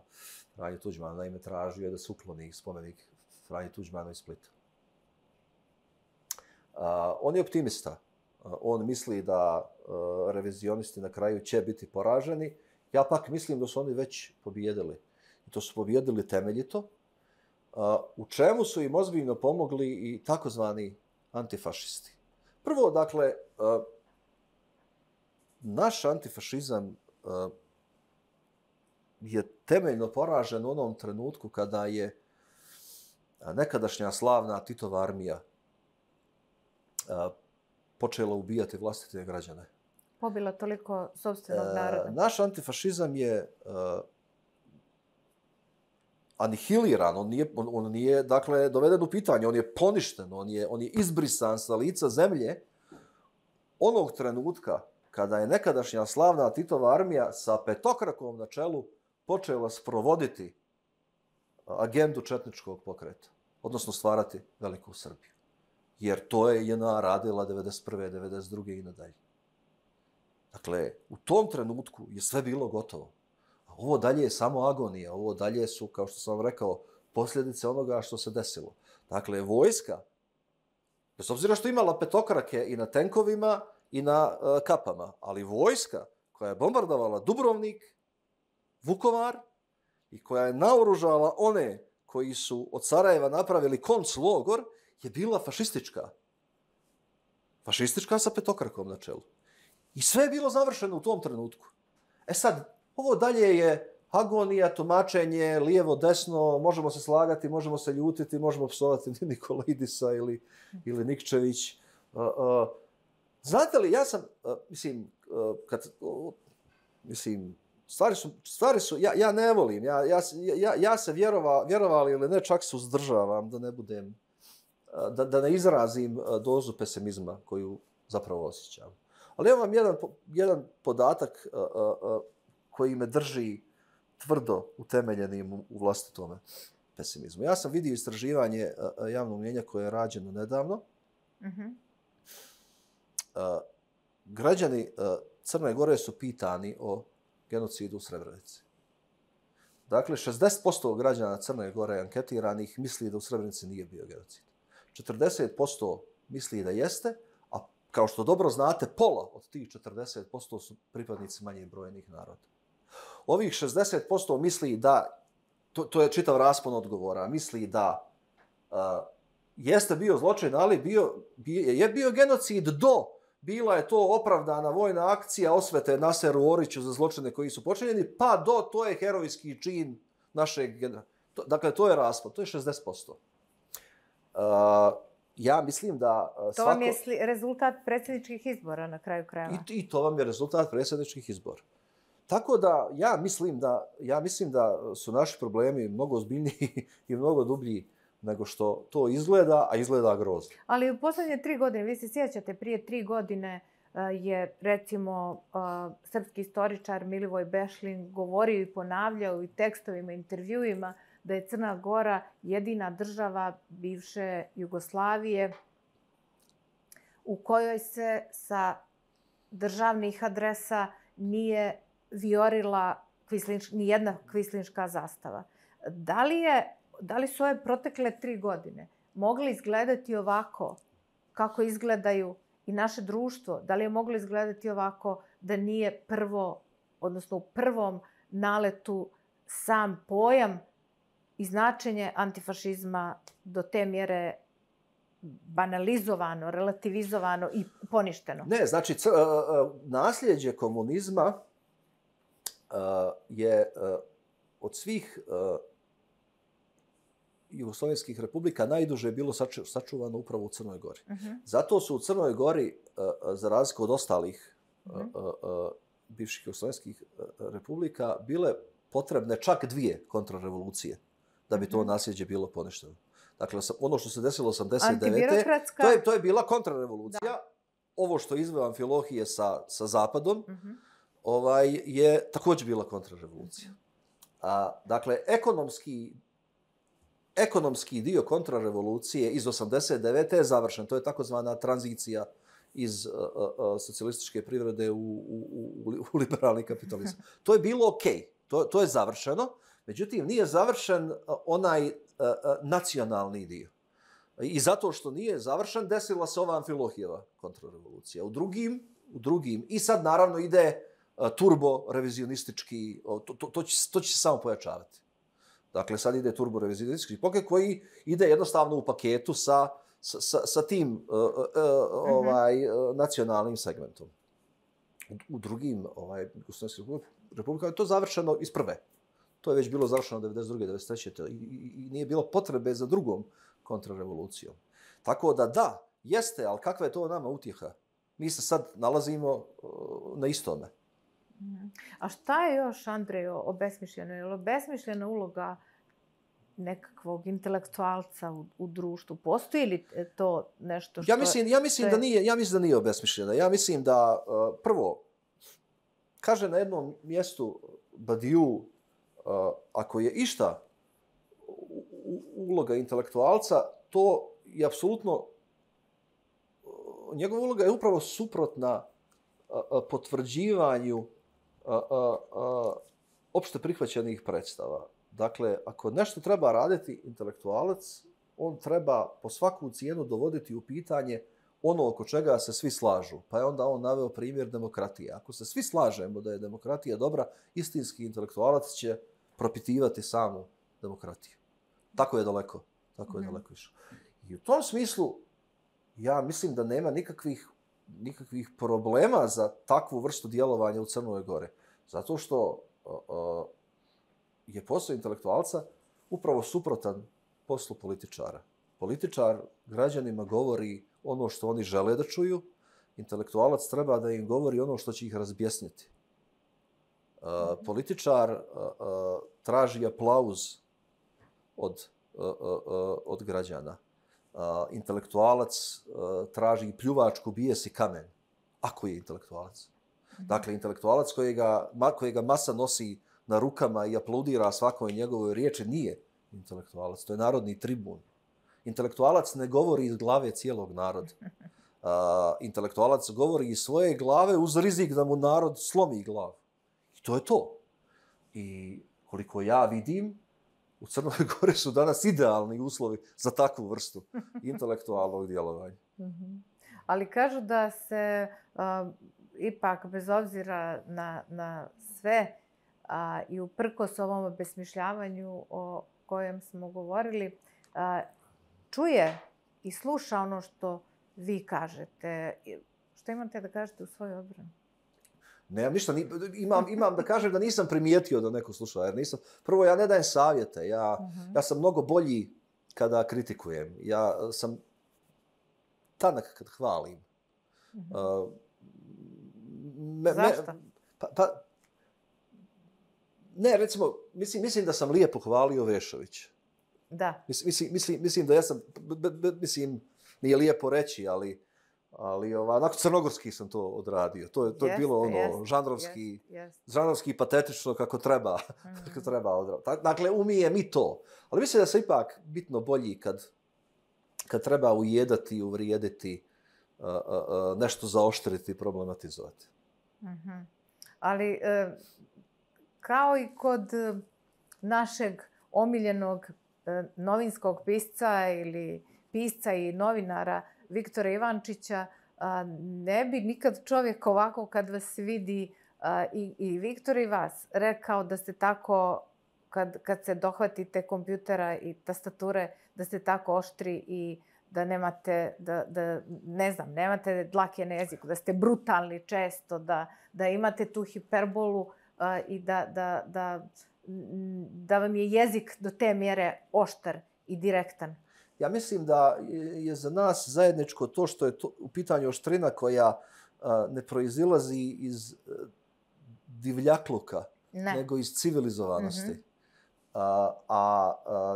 Franji Tuđmanu. Naime, tražio je da se ukloni spomenik Franji Tuđmanu iz Splita. On je optimista. On misli da revizionisti na kraju će biti poraženi. Ja pak mislim da su oni već pobijedili. I to su pobijedili temeljito. U čemu su im ozbiljno pomogli i takozvani antifašisti. Prvo, dakle, naš antifašizam je temeljno poražen u onom trenutku kada je nekadašnja slavna Titova armija počela ubijati vlastite građane. Pobila toliko sopstvenog naroda. Naš antifašizam je anihiliran, on nije dakle, doveden u pitanje, on je poništen, on je izbrisan sa lica zemlje onog trenutka kada je nekadašnja slavna Titova armija sa petokrakom na čelu počela sprovoditi agendu četničkog pokreta, odnosno stvarati Veliku Srbiju. jer to je JNA radila 91. 92. i nadalje. Dakle, u tom trenutku je sve bilo gotovo. A ovo dalje je samo agonija, ovo dalje su, kao što sam vam rekao, posljedice onoga što se desilo. Dakle, vojska, bez obzira što imala petokrake i na tenkovima i na kapama, ali vojska koja je bombardovala Dubrovnik, Vukovar i koja je naoružala one koji su od Sarajeva napravili konclogor, je bila fašistička. Fašistička sa petokrakom na čelu. I sve je bilo završeno u tom trenutku. E sad, ovo dalje je agonija, tumačenje, lijevo, desno, možemo se slagati, možemo se ljutiti, možemo psovati Nikolaidisa ili Nikčević. Znate li, ja sam, stvari su, ja ne volim, ja se vjerovali ili ne, čak se uzdržavam da ne budem, da ne izrazim dozu pesimizma koju zapravo osjećam. Ali evo vam jedan podatak koji me drži tvrdo utemeljenim u vlastitome pesimizmu. Ja sam vidio istraživanje javnog mnijenja koje je rađeno nedavno. Građani Crne Gore su pitani o genocidu u Srebrenici. Dakle, 60% građana Crne Gore anketiranih misli da u Srebrenici nije bio genocid. 40% misli da jeste, a kao što dobro znate, pola od tih 40% su pripadnici manje brojnih naroda. Ovih 60% misli da, to je čitav raspon odgovora, misli da jeste bio zločin, ali je bio genocid bila je to opravdana vojna akcija osvete Naseru Oriću za zločine koji su počinjeni, pa to je herojski čin našeg... Dakle, to je raspon, to je 60%. Ja mislim da... To vam je rezultat predsjedničkih izbora na kraju krajeva. I to vam je rezultat predsjedničkih izbora. Tako da ja mislim da su naši problemi mnogo ozbiljniji i mnogo dublji nego što to izgleda, a izgleda grozno. Ali u posljednje 3 godine, vi se sjećate, prije 3 godine je, recimo, srpski istoričar Milivoj Bešlin govorio i ponavljao i tekstovima, intervjuima da je Crna Gora jedina država bivše Jugoslavije u kojoj se sa državnih adresa nije viorila nijedna kvislinška zastava. Da li su ove protekle 3 godine mogle izgledati ovako kako izgledaju i naše društvo? Da li je moglo izgledati ovako da nije odnosno u prvom naletu sam pojam i značenje antifašizma do te mjere banalizovano, relativizovano i poništeno? Ne, znači nasljeđe komunizma je od svih jugoslovenskih republika najduže bilo sačuvano upravo u Crnoj Gori. Zato su u Crnoj Gori, za razliku od ostalih bivših jugoslovenskih republika, bile potrebne čak 2 kontrarevolucije da bi to nasljeđe bilo poništeno. Dakle, ono što se desilo 89. To je bila kontrarevolucija. Ovo što izveo Amfilohije sa Zapadom je također bila kontrarevolucija. Dakle, ekonomski dio kontrarevolucije iz 89. je završen. To je takozvana tranzicija iz socijalističke privrede u liberalni kapitalizam. To je bilo okej. To je završeno. Međutim, nije završen onaj nacionalni dio. I zato što nije završen, desila se ova Amfilohijeva kontrarevolucija. U drugim. I sad, naravno, ide turbo-revizionistički, to će se samo pojačavati. Dakle, sad ide turbo-revizionistički pokret koji ide jednostavno u paketu sa tim nacionalnim segmentom. U drugim republikama je to završeno iz prve. To je već bilo završeno 92. 93. I nije bilo potrebe za drugom kontrarevolucijom. Tako da, jeste, ali kakva je to nama utjeha? Mi se sad nalazimo na istome. A šta je još, Andrej, obesmišljeno? Je li obesmišljena uloga nekakvog intelektualca u društvu? Postoji li to nešto što... Ja mislim da nije obesmišljena. Ja mislim da, prvo, kaže na jednom mjestu Badiou, ako je išta uloga intelektualca, to je apsolutno njegova uloga je upravo suprotna potvrđivanju opšte prihvaćenih predstava. Dakle, ako nešto treba raditi intelektualac, on treba po svaku cijenu dovoditi u pitanje ono oko čega se svi slažu. Pa je onda on naveo primjer demokratije. Ako se svi slažemo da je demokratija dobra, istinski intelektualac će propitivati samu demokratiju. Tako je daleko išao. I u tom smislu, ja mislim da nema nikakvih problema za takvu vrstu djelovanja u Crnoj Gori. Zato što je posao intelektualca upravo suprotan poslu političara. Političar građanima govori ono što oni žele da čuju, intelektualac treba da im govori ono što će ih razbjesniti. Političar traži aplauz od građana. Intelektualac traži pljuvačku, bije si kamen. Ako je intelektualac. Dakle, intelektualac kojega masa nosi na rukama i aplaudira svakoj njegovoj riječi nije intelektualac. To je narodni tribun. Intelektualac ne govori iz glave cijelog naroda. Intelektualac govori iz svoje glave uz rizik da mu narod slomi glavu. I to je to. I koliko ja vidim, u Crnoj Gori su danas idealni uslovi za takvu vrstu intelektualnog djelovanja. Ali kažu da se ipak, bez obzira na sve i uprkos ovom obesmišljavanju o kojem smo govorili, čuje i sluša ono što vi kažete. Što imate da kažete u svojoj odbrani? Nemam ništa. Imam da kažem da nisam primijetio da neko sluša. Jer prvo, ja ne dajem savjete. Ja sam mnogo bolji kada kritikujem. Ja sam tanak kad hvalim. Zašto? Ne, recimo, mislim da sam lijepo hvalio Vešovića. Da. Mislim da ja sam, nije lijepo reći, ali onako crnogorski sam to odradio. To je bilo ono žanrovski patetično kako treba odraditi. Dakle, umijem i to. Ali mislim da sam ipak bitno bolji kad treba ujedati, uvrijediti, nešto zaoštriti i problematizovati. Ali kao i kod našeg omiljenog novinskog pisca ili pisca i novinara Viktora Ivančića, ne bi nikad čovjek ovako kad vas vidi i Viktor i vas rekao da ste tako, kad se dohvatite kompjutera i tastature, da ste tako oštri i da nemate, nemate dlake na jeziku, da ste brutalni često, da imate tu hiperbolu i da vam je jezik do te mjere oštar i direktan. Ja mislim da je za nas zajedničko to što je u pitanju oštrina koja ne proizilazi iz divljakluka, nego iz civilizovanosti. A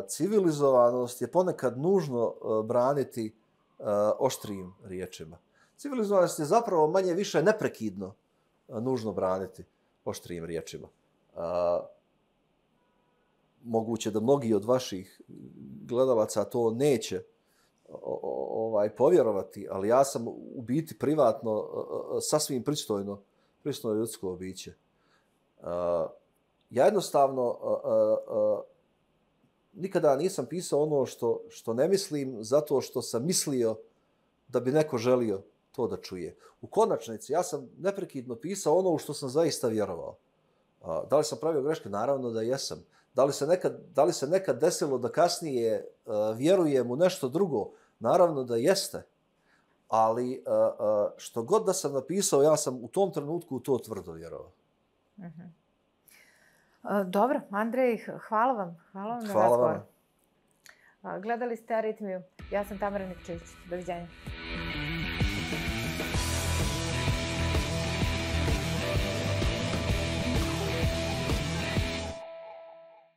civilizovanost je ponekad nužno braniti oštrijim riječima. Civilizovanost je zapravo manje više neprekidno nužno braniti oštrijim riječima. Moguće da mnogi od vaših gledalaca to neće povjerovati, ali ja sam u biti privatno sasvim pristojno ljudsko biće. Ja jednostavno nikada nisam pisao ono što ne mislim zato što sam mislio da bi neko želio to da čuje. U konačnici, ja sam neprekidno pisao ono u što sam zaista vjerovao. Da li sam pravio greške? Naravno da jesam. Da li se nekad desilo da kasnije vjerujem u nešto drugo? Naravno da jeste. Ali što god da sam napisao, ja sam u tom trenutku u to tvrdo vjerovao. Dobro, Andrej, hvala vam. Hvala vam na razgovoru. Gledali ste Aritmiju. Ja sam Tamara Nikčević. Doviđenja.